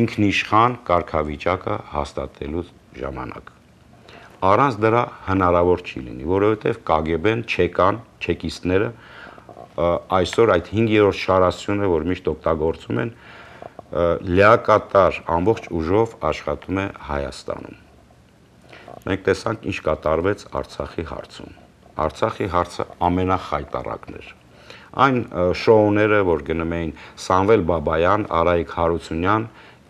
ինքնիշխան կարգավիճակը հաստատելու ժամանակ։ Առանց դրա հնարավոր չի լինի, որովհետեւ Կ Գ B-ն, չեկան, չեկիստները այսօր այդ հինգերորդ շարասյունը, որ միշտ օգտագործում են, լիակատար ամբողջ ուժով աշխատում է Հայաստանում։ Մենք տեսանք ինչ կատարվեց Արցախի հարցում։ Արցախի հարցը ամենախայտառակն էր։ Այն շոուները, որ գնում էին Սամվել Բաբայան, Արայիկ Հարությունյան,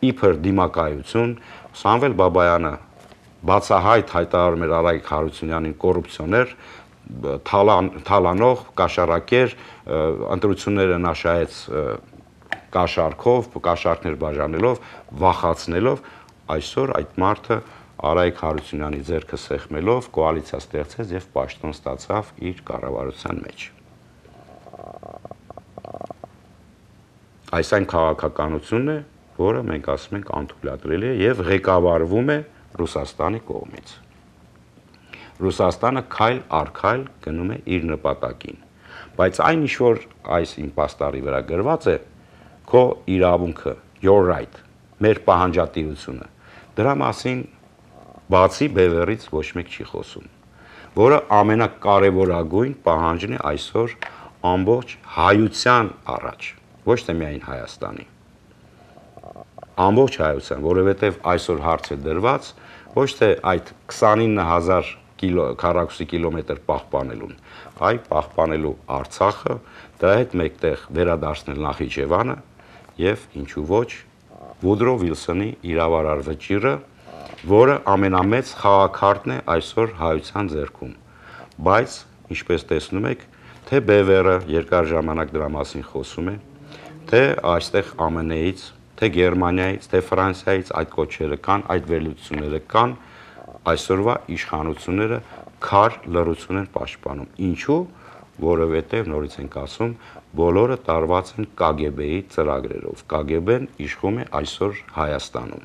իբր դիմակայություն, Սամվել Բաբայանը բացահայտ հայտարարում էր Արայիկ Հարությունյանին կոռուպցիոներ, թալանող, կաշառակեր, ընտրությունները նա շահեց կաշառքով, կաշառքներ բաժանելով, վախացնելով, այսօր այդ մարդը Արայիկ Հարությունյանի ձեռքը սեղմելով կոալիցիա ստեղծեց եւ պաշտոն ստացավ իր կառավարության մեջ։ Այս այն քաղաքականությունն է, որը մենք ասում ենք անթույլատրելի է եւ ղեկավարվում է Ռուսաստանի կողմից։ Ռուսաստանը քայլ առ քայլ գնում է իր նպատակին, բայց այն ինչ որ այս իմ պաստառի վրա գրված է, քո իրավունքը, your right, մեր պահանջատիրությունը, դրա մասին բացի բևեռից ոչ մեկ չի խոսում, որը ամենակարևորագույն պահանջն է այսօր ամբողջ հայության առաջ, ոչ թե միայն Հայաստանի։ Ամբողջ հայության, որովհետև այսօր հարց է դրված ոչ թե այդ քսանինը հազար քառակուսի կիլոմետր պահպանելուն, այ պահպանելու Արցախը, դրա հետ մեկտեղ վերադարձնել Նախիջևանը եւ ինչու ոչ Վուդրո Վիլսոնի իրավարար վճիռը, որը ամենամեծ խաղաքարտն է այսօր հայության ձեռքում, բայց ինչպես տեսնում եք, թե Բևերը երկար ժամանակ դրա մասին խոսում է, թե այստեղ ԱՄՆ -ից, թե Գերմանիայից, թե Ֆրանսիայից այդ կոչերը կան, այդ վերլուծությունները կան, այսօրվա իշխանությունները քար լռություն են պաշտպանում։ Ինչու՞, որովհետև նորից ենք ասում, բոլորը տարված են Կ Գ B-ի ծրագրերով։ Կ Գ B-ն իշխում է այսօր Հայաստանում։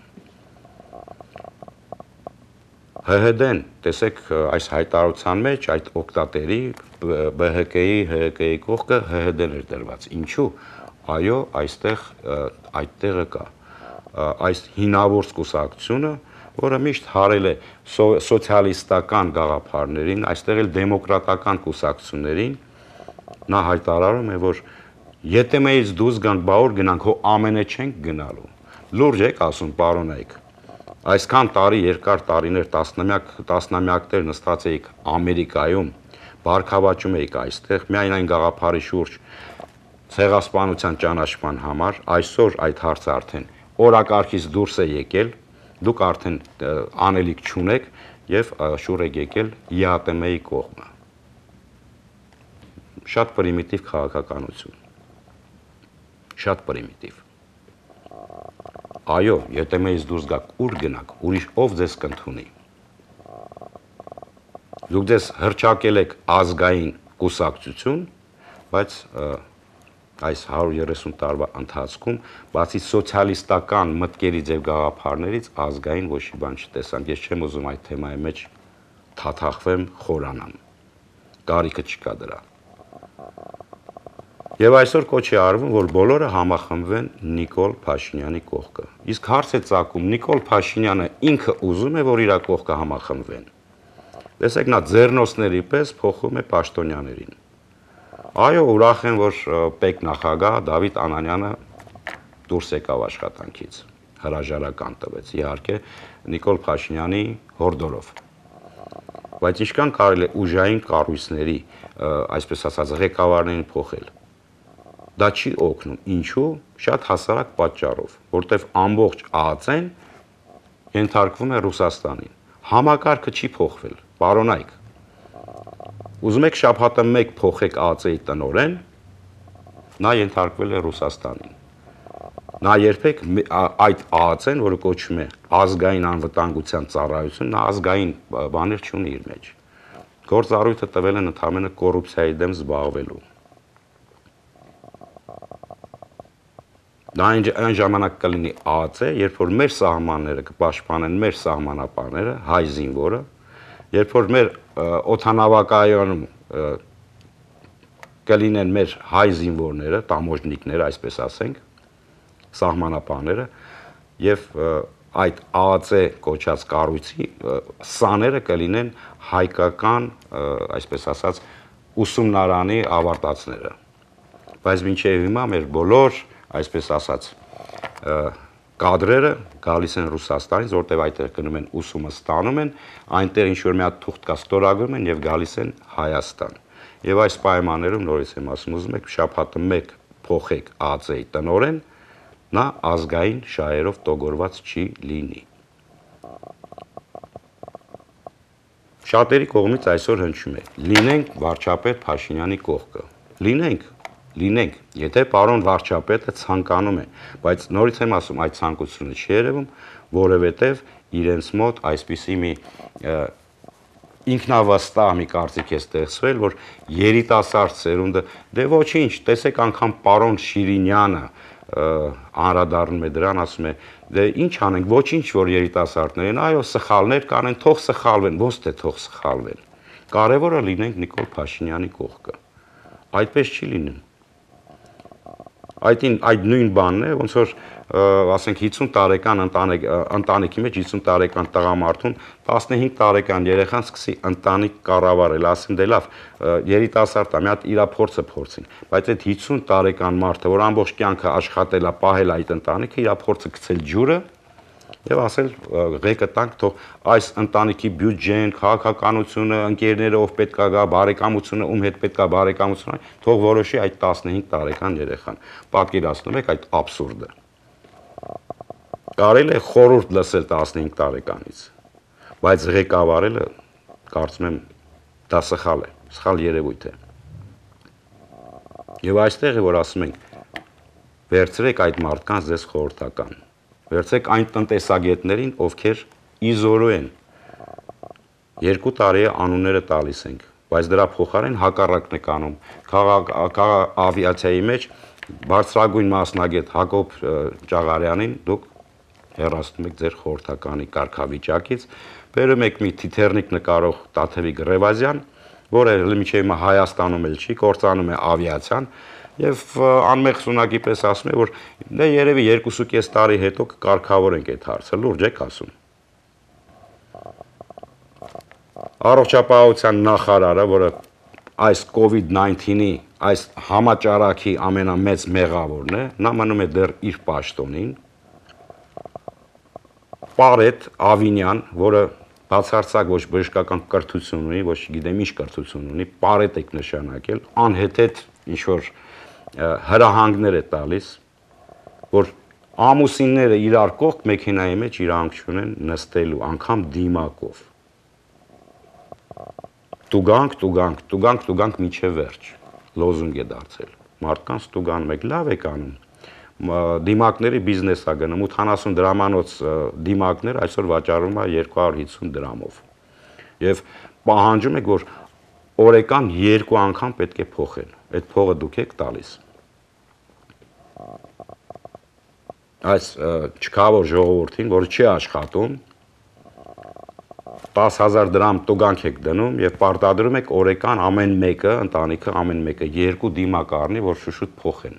Հ Հ D-ն, տեսեք, այս հայտարարության մեջ այդ օկտատերի B H K-ի, H H K-ի կողքը Հ Հ D-ն էր դրված։ Ինչու՞։ Այո, այստեղ այդտեղը կա։ Այս հինավուրց կուսակցությունը, որը միշտ հարել է սոցիալիստական գաղափարներին, այստեղ էլ դեմոկրատական կուսակցություններին, նա հայտարարում է, որ եթե մեզ դուրս գանք, բա որ գնանք, հո ամենը չենք գնալու։ Լուրջ եք ասում, պարոնայք։ Այսքան տարի, երկար տարիներ, տասնամյակներ նստած էիք Ամերիկայում, բարգավաճում էիք այստեղ, միայն այն գաղափարի շուրջ ցեղասպանության ճանաչման համար, այսօր այդ հարցը արդեն օրակարգից դուրս է եկել, դուք արդեն անելիք չունեք եւ շուռ եք եկել Յ Տ M-ի կողմը։ Շատ պրիմիտիվ քաղաքականություն։ Շատ պրիմիտիվ։ Այո, եթե մեզ դուրս գաք, ուր գնաք, ուրիշ ով ձեզ կընդունի։ Դուք ձեզ հռչակել եք ազգային կուսակցություն, բայց այս հարյուր երեսուն տարվա ընթացքում, բացի սոցիալիստական մտքերից եւ գաղափարներից, ազգային ոչ մի բան չտեսանք։ Ես չեմ ուզում այդ թեմայի մեջ թաթախվեմ, խորանամ։ Կարիքը չկա դրա։ Եվ այսօր կոչ է արվում, որ բոլորը համախմբվեն Նիկոլ Փաշինյանի կողքը։ Իսկ հարց է ծագում, Նիկոլ Փաշինյանը ինքը ուզում է, որ իր կողքը համախմբվեն։ Տեսեք, նա ձեռնոցների պես փոխում է պաշտոնյաներին։ Այո, ուրախ եմ, որ պետնախագահ Դավիթ Անանյանը դուրս եկավ աշխատանքից, հրաժարական տվեց, իհարկե, Նիկոլ Փաշինյանի հորդորով։ Բայց ինչքան կարելի է ուժային կառույցների, այսպես ասած, ղեկավարներին փոխել։ Դա չի օգնում, ինչու՞, շատ հասարակ պատճառով, որտեվ ամբողջ Ա Ծ Ն ենթարկվում է Ռուսաստանին։ Համակարգը չի փոխվել, պարոնայք։ Ուզում եք շաբաթը մեկ փոխեք Ա Ծ Ի տնօրեն, նա ենթարկվել է Ռուսաստանին։ Նա երբեք այդ Ա Ծ Ն, որը կոչվում է ազգային անվտանգության ծառայություն, նա ազգային բաներ չունի իր մեջ։ Գործառույթը տվել են ընդհանրապես կոռուպցիայի դեմ զբաղվելու։ Դա այն ժամանակ կլինի Ա Ծ, երբ որ մեր սահմանները կպաշտպանեն մեր սահմանապահները, հայ զինվորը, երբ որ մեր օդանավակայանում կլինեն մեր հայ զինվորները, տամոժնիկները, այսպես ասենք, սահմանապահները, եւ այդ Ա Ծ կոչած կառույցի սաները կլինեն հայկական, այսպես ասած, ուսումնարանի ավարտածները։ Բայց մինչև հիմա մեր բոլոր, այսպես ասած, կադրերը գալիս են Ռուսաստանից, որտեղ այդտեղ գնում են ուսումը ստանում են, այնտեղ ինչ-որ մի հատ թուղթ կա ստորագրում են եւ գալիս են Հայաստան։ Եվ այս պայմաններում նորից եմ ասում, ուզում եք շաբաթը մեկ փոխեք Ա Ծ Ի տնօրեն, նա ազգային շահերով տոգորված չի լինի։ շատերի կողմից այսօր հնչում է. լինենք վարչապետ Փաշինյանի կողքը։ Լինենք, լինենք, եթե պարոն վարչապետը ցանկանում է, բայց նորից եմ ասում, այդ ցանկությունը չի երևում, որովհետև իրենց մոտ այսպիսի մի ինքնավստահ մի կարծիք է ստեղծվել, որ երիտասարդ սերունդը, դե ոչինչ, տեսեք անգամ պարոն Շիրինյանը անդրադառնում է դրան, ասում է, դե ինչ անենք, ոչինչ որ երիտասարդներ են, այո, սխալներ կանեն, թող սխալվեն, ոնց թե թող սխալվեն։ Կարևորը լինենք Նիկոլ Փաշինյանի կողքը։ Այդպես չի լինում։ Այդ այդ նույն բանն է, ոնց որ ասենք հիսուն տարեկան ընտանիքի մեջ հիսուն տարեկան տղամարդուն տասնհինգ տարեկան երեխան սկսի ընտանիք կառավարել, ասեն դե լավ, երիտասարդ է, մի հատ իր փորձը փորձին, բայց այդ հիսուն տարեկան մարդը, որ ամբողջ կյանքը աշխատել է, պահել այդ ընտանիքը, իր փորձը գցել ջուրը եւ ասել ղեկը տանք, թող այս ընտանիքի բյուջեն, քաղաքականությունը, ընկերները ով պետքա գա, բարեկամությունը, ում հետ պետքա բարեկամություն, թող որոշի այդ տասնհինգ տարեկան երեխան։ Պատկերացնում եք այդ աբսուրդը։ Կարելի է խորհուրդ լսել տասնհինգ տարեկանից, բայց ղեկավարելը կարծում եմ դա սխալ է, սխալ երևույթ է։ Եվ այստեղ է որ ասում ենք վերցրեք այդ մարդկանց ձեզ խորհրդական, վերցրեք այն տնտեսագետներին, ովքեր իզորու են, երկու տարի է անունները տալիս ենք, բայց դրա փոխարեն հակառակն եք անում, ավիացիայի մեջ բարձրագույն մասնագետ Հակոբ Ճաղարյանին դուք հեռացնում եք ձեր խորհրդականի կարգավիճակից, բերում եք մի թիթեռնիկ նկարող Տաթևիկ Ռևազյան, որը մինչև հիմա Հայաստանում էլ չի, կործանում է ավիացիան, եւ անմեղ սունակի պես ասում է, որ դե երևի երկու ու կես տարի հետո կկարգավորենք այդ հարցը, լուրջ եք ասում։ Առողջապահության նախարարը, որը այս կովիդ նայնթինի այս համաճարակի ամենամեծ մեղավորն է, նա մնում է դեռ իր պաշտոնին։ Պարետ Ավինյան, որը բացարձակ ոչ բժշկական կրթություն ունի, ոչ գիտեմ ինչ կրթություն ունի, պարետ եք նշանակել, անհեթեթ ինչ որ հրահանգներ է տալիս, որ ամուսինները իրար կողք մեքենայի մեջ իրանք չունեն նստելու, անգամ դիմակով։ Տուգանք, տուգանք, տուգանք, տուգանք միջև վերջ, լոզունգ է դարձել, մարդկանց տուգանում եք, լավ եք անում, դիմակների բիզնես է գնում, ութանասուն դրամանոց դիմակներ այսօր վաճառում է երկու հարյուր հիսուն դրամով, և պահանջում եք, որ օրեկան երկու անգամ պետք է փոխեն, այդ փողը դուք եք տալիս։ Այս չքավոր ժողովրդին, որը չի աշխատում, տասը հազար դրամ տուգանք եք դնում և պարտադրում եք օրեկան ամեն մեկը, ընտանիքը ամեն մեկը երկու դիմակ առնի, որ շուշուտ փոխեն։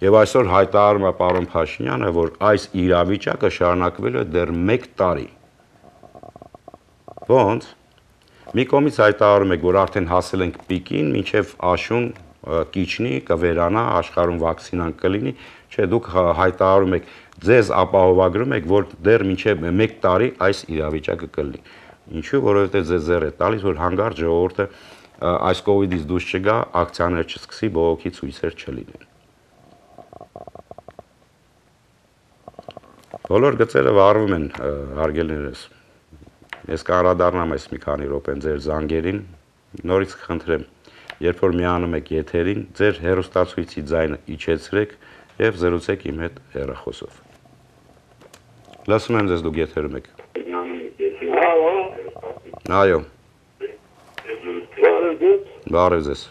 Եվ այսօր հայտարարում է պարոն Փաշինյանը, որ այս իրավիճակը շարունակվելու է դեռ մեկ տարի։ Ոնց։ Մի կողմից հայտարարում եք, որ արդեն հասել ենք պիկին, մինչև աշուն կիջնի, կվերանա, աշխարհում վակցինան կլինի, չէ, դուք հայտարարում եք, ձեզ ապահովագրում եք, որ դեռ մինչև մեկ տարի այս իրավիճակը կլինի։ Ինչու, որովհետև ձեզ ձեռ է տալիս, որ հանգարտ ժողովուրդը այս կովիդից դուրս չգա, ակցիաներ չսկսի, բողոքի ցույցեր չլինեն։ Բոլոր գծերը վառվում են, հարգելիներս։ Ես կանդրադառնամ այս մի քանի րոպեն ձեր զանգերին, նորից կխնդրեմ, երբ որ միանում եք եթերին, ձեր հեռուստացույցի ձայնը իջեցրեք եւ զրուցեք իմ հետ հեռախոսով։ Լսում եմ ձեզ, դուք եթերում եք։ Այո։ Բարև ձեզ։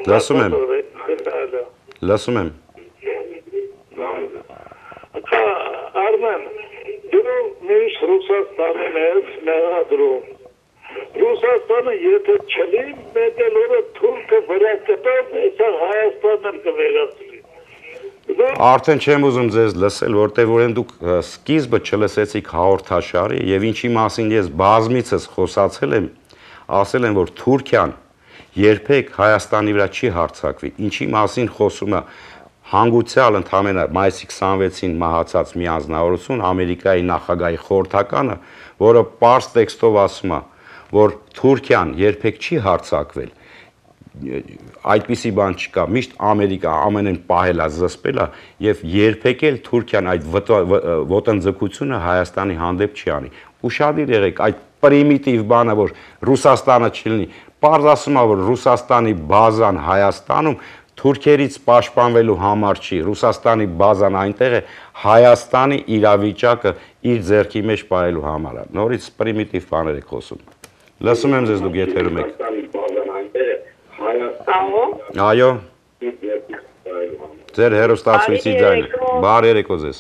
Լսում եմ։ Լսում եմ։ Արմեն, դու միշտ Ռուսաստանին ես մեղադրում։ Ռուսաստանը եթե չլի, մեդել օրը թուրքը վրա կտավ, այսա Հայաստանն կվերացրի։ Արդեն չեմ ուզում ձեզ լսել, որտեղ որ դուք սկիզբը չլսեցիք հաղորդաշարի եւ ինչի մասին ես բազմիցս խոսացել եմ, ասել եմ, որ Թուրքիան երբեք Հայաստանի վրա չի հարձակվի, ինչի մասին խոսում է հանգուցյալ ընդամենը մայիսի քսանվեցին մահացած մի անձնավորություն, Ամերիկայի նախագահի խորհրդականը, որը պարզ տեքստով ասում է, որ Թուրքիան երբեք չի հարձակվել, այդպիսի բան չկա, միշտ Ամերիկա ամենեն պահել է, զսպել է եւ երբեք էլ Թուրքիան այդ ոտնձգությունը Հայաստանի հանդեպ չի անի։ Ուշադիր եղեք, այդ պրիմիտիվ բանը, որ Ռուսաստանը չլինի, պարզ ասում է, որ Ռուսաստանի բազան Հայաստանում թուրքերից պաշտպանվելու համար չի, Ռուսաստանի բազան այնտեղ է Հայաստանի իրավիճակը իր ձեռքի մեջ պահելու համար է։ Նորից պրիմիտիվ բաներ եք խոսում։ Լսում եմ ձեզ, դուք եթերում եք։ Այո։ Ձեր հեռուստացույցի ձայնը։ Բարի երեկո ձեզ։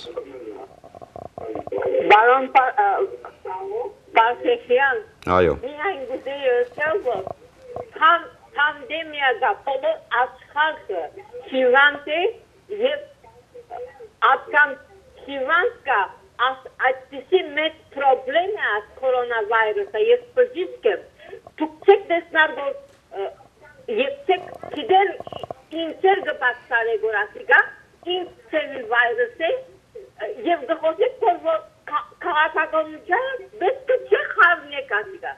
Բարոն Պարսեքյան։ Այո։ Միայն գուտեի ասել, որ պանդեմիա բոլոր աշխարհը հիվանդ է եւ ատկան հիվանդ կա այդպիսի մեծ պրոբլեմ է կորոնավիրուսը ես բժիշկ եմ դուք չեք տեսնար որ եւ չեք գիտել ինտեր գբացարե գորասիկա ինտեր վիրուսը եւ դխոսիկ որ քաղաքականության բեսկը չխավնեք ասիկա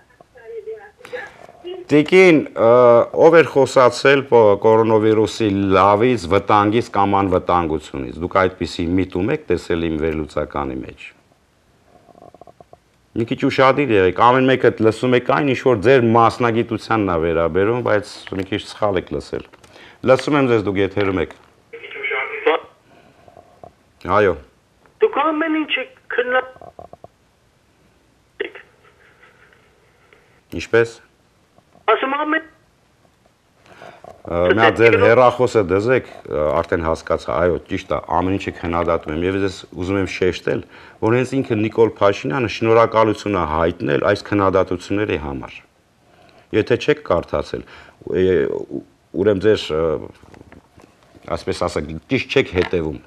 Տիկին, ով էր խոսացել կորոնավիրուսի լավից, վտանգից կամ անվտանգությունից, դուք այդպիսի միտում եք տեսել իմ վերլուծականի մեջ։ Մի քիչ ուշադիր եղեք, ամեն մեկը լսում եք այն, ինչ որ ձեր մասնագիտությանն է վերաբերում, բայց մի քիչ սխալ եք լսել։ Լսում եմ ձեզ, դուք եթերում եք։ Այո։ Դուք ամեն ինչ քննա Ինչպես։ Ասում ամեն Նա ձեր հեռախոսը դզեք, արդեն հասկացա, այո, ճիշտ է, ամեն ինչը քննադատում եմ եւ ես ուզում եմ շեշտել, որ հենց ինքը Նիկոլ Փաշինյանը շնորհակալություն է հայտնել այս քննադատությունների համար։ Եթե չեք կարդացել, ուրեմն ձեր ասպես ասած, ճիշտ չեք հետևում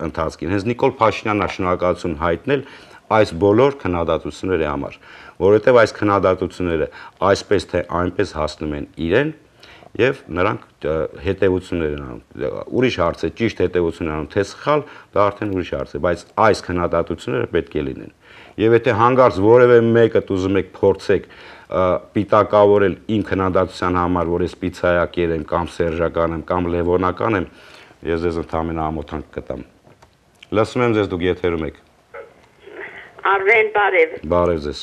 ընթացքին։ Հենց Նիկոլ Փաշինյանն է շնորհակալություն հայտնել այս բոլոր քննադատությունների համար, որովհետև այս քննադատությունները այսպես թե այնպես հասնում են իրեն եւ նրանք հետեւություններ են անում։ Ուրիշ հարց է, ճիշտ հետեւություն անում, թե սխալ, դա արդեն ուրիշ հարց է, բայց այս քննադատությունները պետք է լինեն։ Եվ եթե հանգարց որևէ մեկը ուզում եք փորձեք պիտակավորել իմ քննադատության համար, որ ես պիցայակեր եմ կամ սերժական եմ կամ լևոնական եմ, ես ձեզ ընդհանրապես ամոթանք կտամ։ Լսում եմ ձեզ, դուք եթերում եք։ Արվեն բարև։ Բարև ձեզ։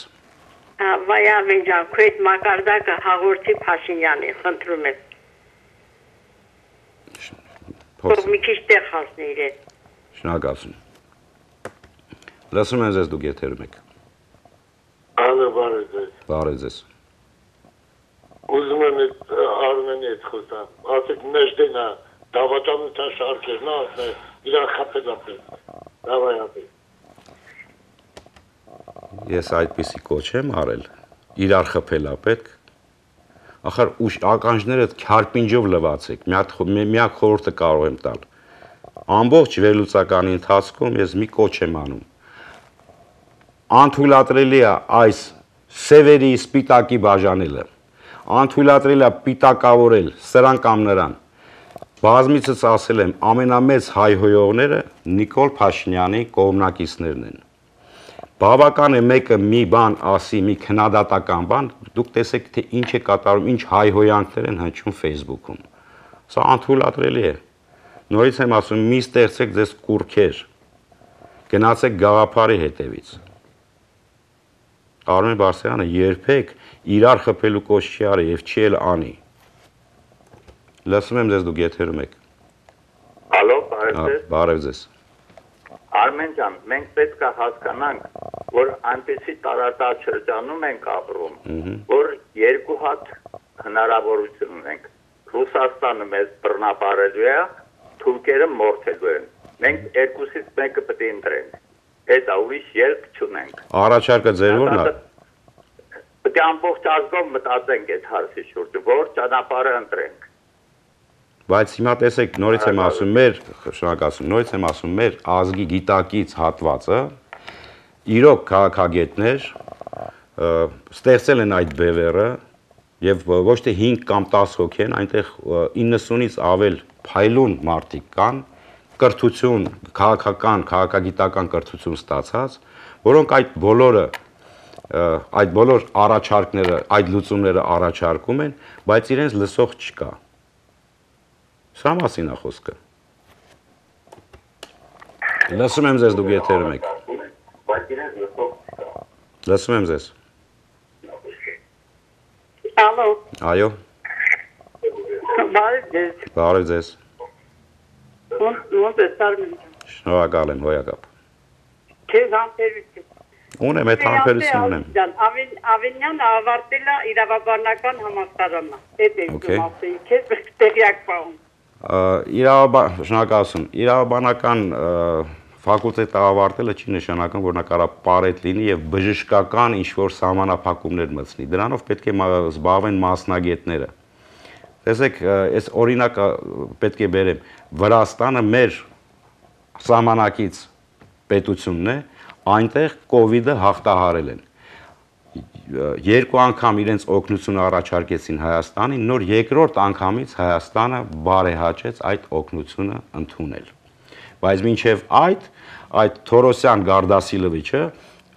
Վայավեն ջան, քույտ մակարդակը հաղորդի Փաշինյանի, խնդրում եմ։ Փոքր մի քիչ տեղ հասնի իրեն։ Շնորհակալություն։ Լսում եմ ձեզ, դուք եթերում եք։ Ալո, բարև ձեզ։ Բարև ձեզ։ Ուզում եմ Արմենի հետ խոսամ։ Ասեք մեջտենա դավաճանության շարքերն ասել, իրան խփել ապել։ Դավայապել։ Ես այդպիսի կոչ եմ արել, իրար խփելա պետք, ախր ուշ ականջները քարպինջով լվացեք, միակ խորհուրդը կարող եմ տալ, ամբողջ վերլուծականի ընթացքում ես մի կոչ եմ անում, անթույլատրելի է այս սևերի սպիտակի բաժանելը, անթույլատրելի է պիտակավորել սրան կամ նրան, բազմիցս ասել եմ, ամենամեծ հայհոյողները Նիկոլ Փաշինյանի կողմնակիցներն են, բավական է մեկը մի բան ասի, մի քննադատական բան, դուք տեսեք, թե ինչ է կատարում, ինչ հայհոյանքներ են հնչում Facebook-ում։ Սա անթույլատրելի է։ Նորից եմ ասում, մի ստեղծեք ձեզ կուռքեր, գնացեք գաղափարի հետևից։ Արմեն Բարսեղյանը երբեք իրար խփելու կոչ չի արի եւ չի էլ անի։ Լսում եմ ձեզ, դուք եթերում եք։ Ալո, բարև ձեզ։ Բարև ձեզ։ Արմեն ջան, մենք պետք է հասկանանք, որ այնպեսի տարածած շրջանում ենք ապրում, որ երկու հատ հնարավորություն ունենք։ Ռուսաստանը մեզ բռնապարելու է, թուրքերը մորթելու են։ Մենք երկուսից մեկը պետք է ընտրենք։ Հետո ուրիշ ելք չունենք։ Առաջարկը ձեր որն է։ Պետք է ամբողջ ազգով մտածենք այդ հարցի շուրջ, որ ճանապարհը ընտրենք։ Բայց հիմա տեսեք, նորից եմ ասում, մեր, շնորհակալություն, նորից եմ ասում, մեր ազգի գիտակից հատվածը, իրոք քաղաքագետներ ստեղծել են այդ բևեռը եւ ոչ թե հինգ կամ տասը հոգի են, այնտեղ իննսունից ավել փայլուն մարդիկ կան, կրթություն, քաղաքական, քաղաքագիտական կրթություն ստացած, որոնք այդ բոլորը այդ բոլոր առաջարկները, այդ լուծումները առաջարկում են, բայց իրենց լսող չկա։ Սրա մասին է խոսքը։ Լսում եմ ձեզ, դուք եթերում եք։ Լսում եմ ձեզ։ Ալո։ Այո։ Բարև ձեզ։ Բարև ձեզ։ Ոնց է Արմեն։ Շնորհակալ եմ, հոյակապ։ Քեզ համբերություն։ Ունեմ, այդ համբերություն ունեմ։ Ավենյանը ավարտել է իրավաբանական համալսարանը։ Այդ է ուզում ասել, քեզ տեղյակ պահում։ Իրավաբան, շնորհակալություն։ Իրավաբանական ֆակուլտետը ավարտելը չի նշանակում, որ նա կարա պարետ լինի եւ բժշկական ինչ-որ սահմանափակումներ մտցնի։ Դրանով պետք է զբաղվեն մասնագետները։ Տեսեք, այս օրինակը պետք է բերեմ։ Վրաստանը մեր սահմանակից պետությունն է, այնտեղ կովիդը հաղթահարել են։ Երկու անգամ իրենց օգնությունը առաջարկեցին Հայաստանին, նոր երկրորդ անգամից Հայաստանը բարեհաճեց այդ օգնությունը ընդունել։ Բայց մինչև այդ, այդ Թորոսյան Գարդասիլովիչը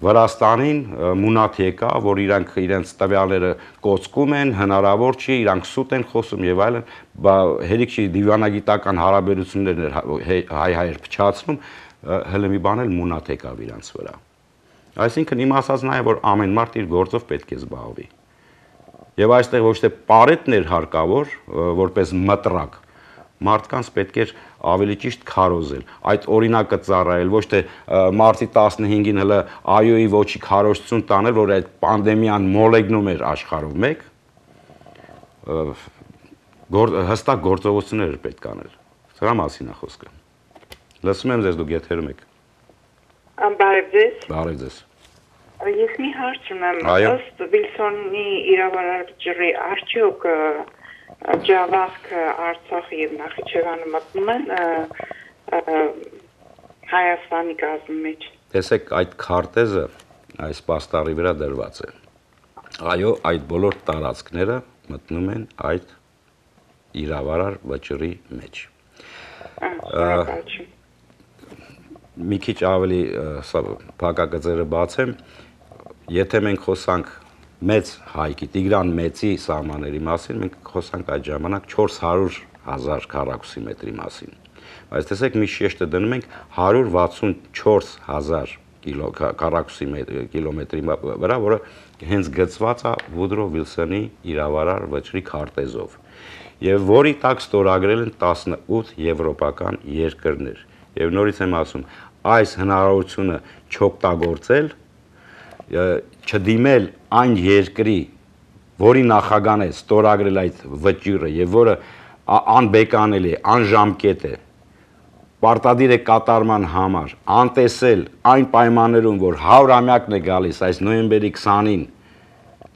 Վրաստանին մունատ եկա, որ իրանք իրենց տվյալները կոծկում են, հնարավոր չի, իրանք սուտ են խոսում եւ այլն, հերիք չի դիվանագիտական հարաբերություններն հայ-հայեր փչացնում, հələ մի բան էլ մունատ եկավ իրանց վրա։ Այսինքն իմ ասած նա է, որ ամեն մարդ իր գործով պետք է զբաղվի։ Եվ այստեղ ոչ թե պարետներ հարկավոր, որպես մտրակ, մարդկանց պետք էր ավելի ճիշտ քարոզել, այդ օրինակը ծառայել, ոչ թե մարտի տասնհինգին հələ այոյի ոչի քարոզություն տանել, որ այդ պանդեմիան մոլեգնում էր աշխարհով մեկ, հստակ գործողություններ պետք անել։ Սրա մասին է խոսքը։ Լսում եմ ձեզ, դուք եթերում եք։ Բարև ձեզ։ Բարև ձեզ։ Ես մի հարց ունեմ, ըստ Վիլսոնի իրավարարչի արդյոք Ջավախքը, Արցախը եւ Նախիջևանը մտնում են Հայաստանի գազի մեջ։ Տեսեք, այդ քարտեզը այս պաստառի վրա դրված է։ Այո, այդ բոլոր տարածքները մտնում են այդ իրավարար վճռի մեջ։ Մի քիչ ավելի փակագծերը բացեմ, եթե մենք խոսանք մեծ հայքի, Տիգրան Մեծի սահմանների մասին, մենք խոսանք այդ ժամանակ չորս հարյուր հազար քառակուսի մետրի մասին։ Բայց տեսեք, մի շեշտը դնում ենք հարյուր վաթսունչորս հազար քառակուսի կիլոմետրի վրա, որը հենց գծված է Վուդրո Վիլսոնի իրավարար վճռի քարտեզով, եւ որի տակ ստորագրել են տասնութ եվրոպական երկրներ։ Եվ նորից եմ ասում, այս հնարավորությունը չօգտագործել, չդիմել այն երկրի, որի նախագահն է ստորագրել այդ վճիռը եւ որը անբեկանելի է, անժամկետ է, պարտադիր է կատարման համար, անտեսել այն պայմաններում, որ հարյուրամյակն է գալիս, այս նոյեմբերի քսանին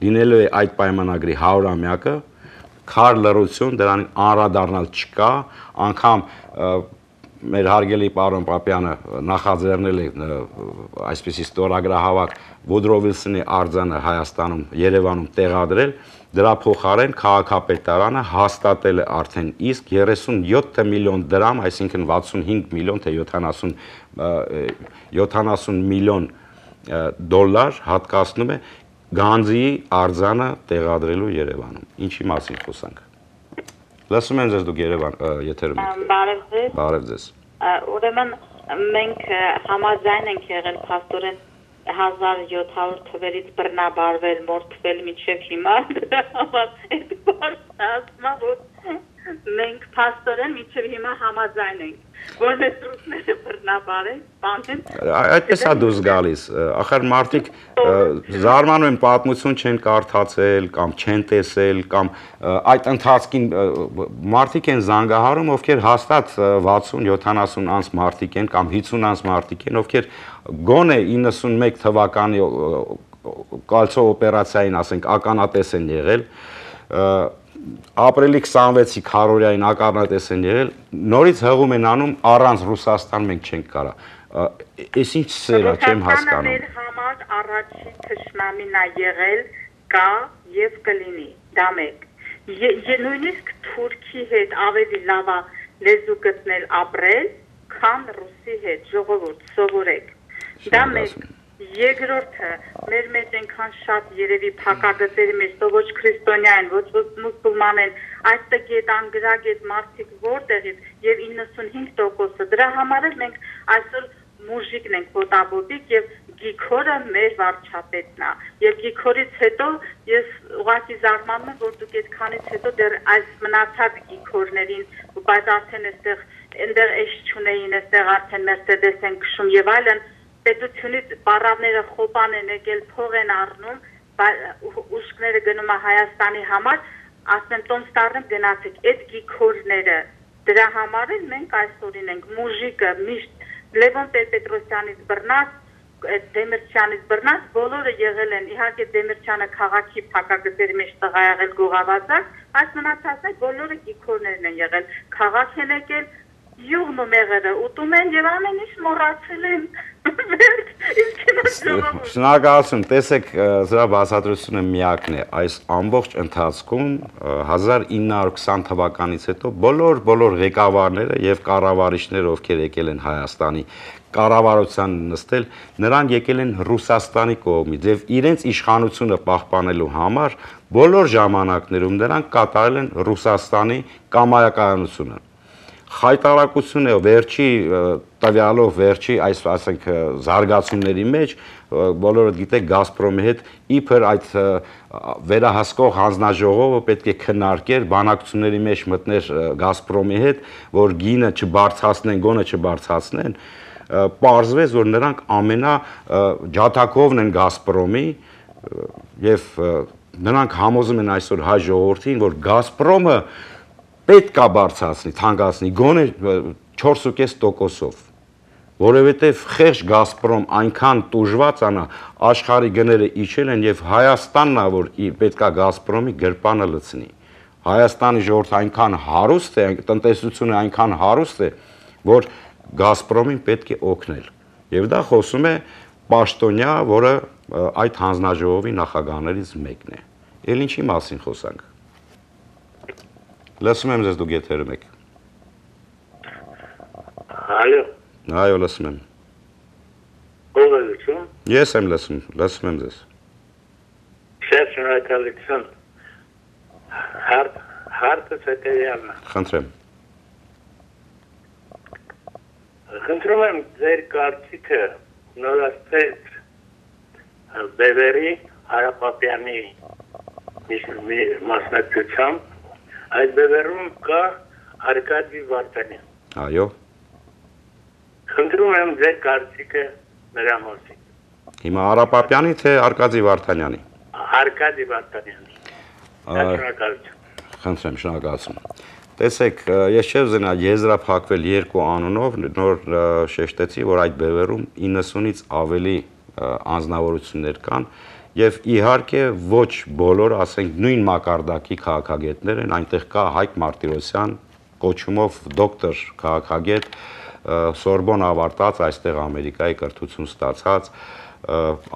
լինելու է այդ պայմանագրի հարյուրամյակը, քար լռություն, դրան անդրադառնալ չկա, անգամ մեր հարգելի պարոն Պապյանը նախաձեռնել է այսպիսի ստորագրահավաք Վուդրո Վիլսոնի արձանը Հայաստանում, Երևանում տեղադրել, դրա փոխարեն քաղաքապետարանը հաստատել է արդեն իսկ երեսունյոթ միլիոն դրամ, այսինքն վաթսունհինգ միլիոն թե յոթանասուն միլիոն դոլար հատկացնում է գանձի արձանը տեղադրելու Երևանում։ Ինչի մասին խոսանք։ Լսում եմ ձեզ, դուք Երևան եթերում եք։ Բարև ձեզ։ Բարև ձեզ։ Ուրեմն մենք համաձայն ենք եղել փաստորեն հազար յոթ հարյուր թվերից բռնաբարվել, մորթվել մինչև հիմա, դրա համար այդ բարձ ասма, որ մենք փաստորեն մինչև հիմա համաձայն ենք, որ մեզ ռուսները բռնաբարեն, բանեն։ Այդպես է դուրս գալիս, ախր մարդիկ զարմանում են պատմություն չեն կարդացել կամ չեն տեսել կամ այդ ընթացքին մարդիկ են զանգահարում, ովքեր հաստատ վաթսուն յոթանասուն անց մարդիկ են կամ հիսուն անց մարդիկ են, ովքեր գոնե իննսունմեկ թվականի կալցո օպերացիային, ասենք, ականատես են եղել, ապրիլի քսանվեցի քառորյային ականատես են եղել, նորից հղում են անում առանց Ռուսաստան մենք չենք կարա։ Այս ինչ սեր է, չեմ հասկանում։ Ռուսաստանը մեր համար առաջին թշնամին է եղել, կա եւ կլինի, դա մեկ։ Նույնիսկ Թուրքի հետ ավելի լավ է լեզու գտնել ապրել, քան Ռուսի հետ, ժողովուրդ, սովորեք։ Դա մեկ։ Երկրորդը, մեր մեջ այնքան շատ երևի փակագծերի մեջ, ոչ քրիստոնյա են, ոչ մուսուլման են, այստեղ այդ անգրագետ մարդիկ որտեղից եւ իննսունհինգ տոկոսը դրա համար էլ մենք այսօր մուժիկն ենք ոտաբոտիկ եւ Գիքորը մեր վարչապետն է եւ Գիքորից հետո ես ուղղակի զարմանում եմ որ դուք այդքանից հետո դեռ այս մնացած Գիքորներին բայց արդեն այստեղ այնտեղ էշ չունեին այստեղ արդեն Մերսեդես են քշում եւ այլն պետությունից պարավները խոպան են եկել փող են առնում ուշքները գնում է Հայաստանի համար ասեմ տոմստարն գնացեք այդ Գիքորները դրա համար էլ մենք այսօրին ենք մուժիկը միշտ Լևոն Տեր-Պետրոսյանից բռնած Դեմիրճյանից բռնած բոլորը եղել են իհարկե Դեմիրճյանը քաղաքի փակագծերի մեջ տղա եղել գողավազակ այս մնացածը բոլորը Գիքորներն են եղել քաղաք են եկել յուղն ու մեղրը ուտում են եւ ամեն ինչ մոռացել են Շնորհակալություն տեսեք սրա բացատրությունը միակն է այս ամբողջ ընթացքում հազար ինը հարյուր քսան թվականից հետո բոլոր բոլոր ղեկավարները եւ կառավարիչները ովքեր եկել են Հայաստանի կառավարության նստել նրանք եկել են Ռուսաստանի կողմից եւ իրենց իշխանությունը պահպանելու համար բոլոր ժամանակներում նրանք կատարել են Ռուսաստանի կամայականությունը Խայտարակությունը վերջի տվյալով վերջի այս ասենք զարգացումների մեջ բոլորը գիտեք Գազպրոմի հետ իբր այդ վերահսկող հանձնաժողովը պետք է քննարկեր բանակցությունների մեջ մտներ Գազպրոմի հետ որ գինը չբարձրացնեն գոնը չբարձրացնեն պարզվեց որ նրանք ամենա ջաթակովն են Գազպրոմի եւ նրանք համոզում են այսօր հայ ժողովրդին որ Գազպրոմը պետք է բարձրացնի, թանկացնի, գոնե չորս ու կես տոկոսով, որովհետև խեղճ Գազպրոմ այնքան տուժված անա, աշխարհի գները իջել են եւ Հայաստանն է, որ պետք է Գազպրոմի գրպանը լցնի։ Հայաստանի ժողովուրդը այնքան հարուստ է, տնտեսությունը այնքան հարուստ է, որ Գազպրոմին պետք է օգնել։ Եվ դա խոսում է պաշտոնյա, որը այդ հանձնաժողովի նախագահներից մեկն է։ Էլ ինչի մասին խոսանք։ Լսում եմ ձեզ դուք եթերում եք։ Այո։ Այո, լսում եմ։ Ո՞վ է լսում։ Ես եմ լսում, լսում եմ ձեզ։ Շատ շնորհակալություն։ Հարց հարցը հետևյալն է։ Խնդրեմ։ Խնդրում եմ ձեր կարծիքը նորաստեղծ Բևերի Հարապապյանի մասնակցությամբ Այդ բևերում կա Արկադի Վարդանյան։ Այո։ Խնդրում եմ ձեր կարծիքը նրա մասին։ Հիմա Հարապապյանի թե Արկադի Վարդանյանի։ Արկադի Վարդանյանի։ Շնորհակալություն։ Խնդրեմ, շնորհակալություն։ Տեսեք, ես չեմ զնա եզրափակվել երկու անունով, նոր շեշտեցի, որ այդ բևերում իննսունից ավելի անձնավորություններ կան Եվ իհարկե ոչ բոլոր, ասենք նույն մակարդակի քաղաքագետներ են, այնտեղ կա Հայկ Մարտիրոսյան, կոչումով դոկտոր քաղաքագետ, Սորբոն ավարտած, այստեղ Ամերիկայի կրթություն ստացած,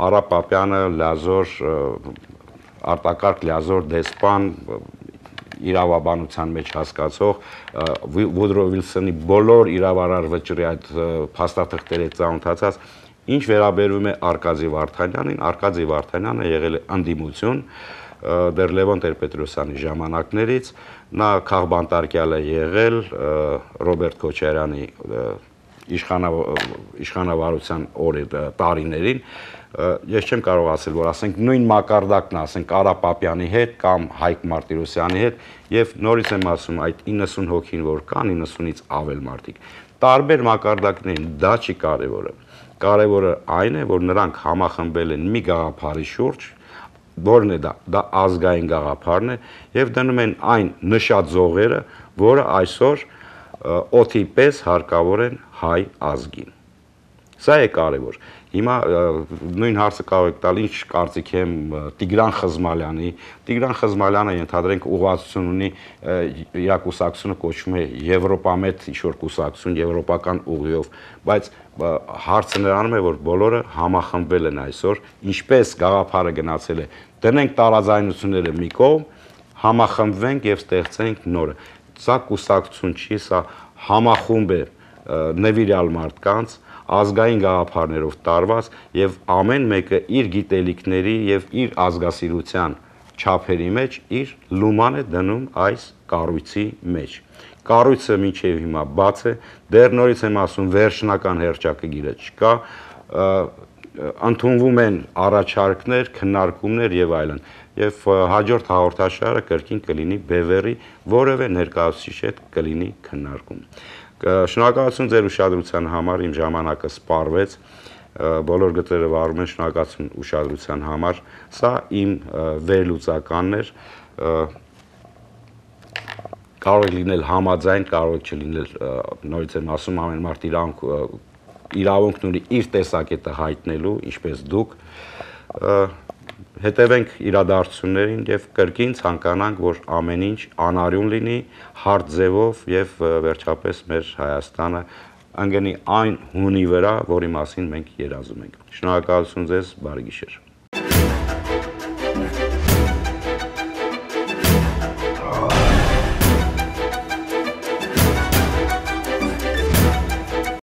Արա Պապյանը լազոր, արտակարգ լազոր դեսպան, իրավաբանության մեջ հասկացող, Վուդրո Վիլսոնի բոլոր իրավարար վճռի այդ փաստաթղթերի ծանոթացած Ինչ վերաբերում է Արկադի Վարդանյանին, Արկադի Վարդանյանը եղել է ընդդիմություն դեռ Լևոն Տեր-Պետրոսյանի ժամանակներից, նա քաղբանտարկյալ է եղել Ռոբերտ Քոչարյանի իշխանավարության օրի տարիներին, ես չեմ կարող ասել, որ ասենք նույն մակարդակն է, ասենք Արա Պապյանի հետ կամ Հայկ Մարտիրոսյանի հետ, եւ նորից եմ ասում, այդ իննսուն հոգին որ կան, իննսունից ավել մարդիկ, տարբեր մակարդակներին, դա չի կարևորը Կարևորը այն է, որ նրանք համախմբել են մի գաղափարի շուրջ, որն է դա, դա ազգային գաղափարն է, եւ դնում են այն նշած զողերը, որը այսօր օդի պես հարկավոր են հայ ազգին։ Սա է կարևոր։ Հիմա նույն հարցը կարող եք տալ, ինչ կարծիք եմ Տիգրան Խզմալյանի, Տիգրան Խզմալյանը ենթադրենք ուղղվածություն ունի, իր կուսակցությունը կոչվում է Եվրոպամետ ինչ-որ կուսակցություն, եվրոպական ուղիով, բայց հարցը նրանում է, որ բոլորը համախմբվել են այսօր, ինչպես գաղափարը գնացել է, դնենք տարաձայնությունները մի կողմ, համախմբվենք եւ ստեղծենք նորը։ Սա կուսակցություն չի, սա համախումբ է նվիրյալ մարդկանց ազգային գաղափարներով տարված եւ ամեն մեկը իր գիտելիքների եւ իր ազգասիրության չափերի մեջ իր լուման է դնում այս կառույցի մեջ։ Կառույցը մինչև հիմա բաց է, դեռ նորից եմ ասում, վերջնական հերճակագիրը չկա, ընդունվում են առաջարկներ, քննարկումներ եւ այլն։ Եվ հաջորդ հաղորդաշարը կրկին կլինի Բևերի որևէ ներկայացուցիչ հետ կլինի քննարկում։ Շնորհակալություն ձեր ուշադրության համար, իմ ժամանակը սպառվեց, բոլոր գծերը վարում են, շնորհակալություն ուշադրության համար, սա իմ վերլուծականն էր, կարող է լինել համաձայն, կարող է չլինել, նորից եմ ասում, ամեն մարդ իրավունքն ունի իր տեսակետը հայտնելու, ինչպես դուք, հետևենք իրադարձություններին եւ կրկին ցանկանանք, որ ամեն ինչ անարյուն լինի, հարթ ձևով եւ վերջապես մեր Հայաստանը ընկնի այն հունի վրա, որի մասին մենք երազում ենք։ Շնորհակալություն ձեզ, բարի գիշեր։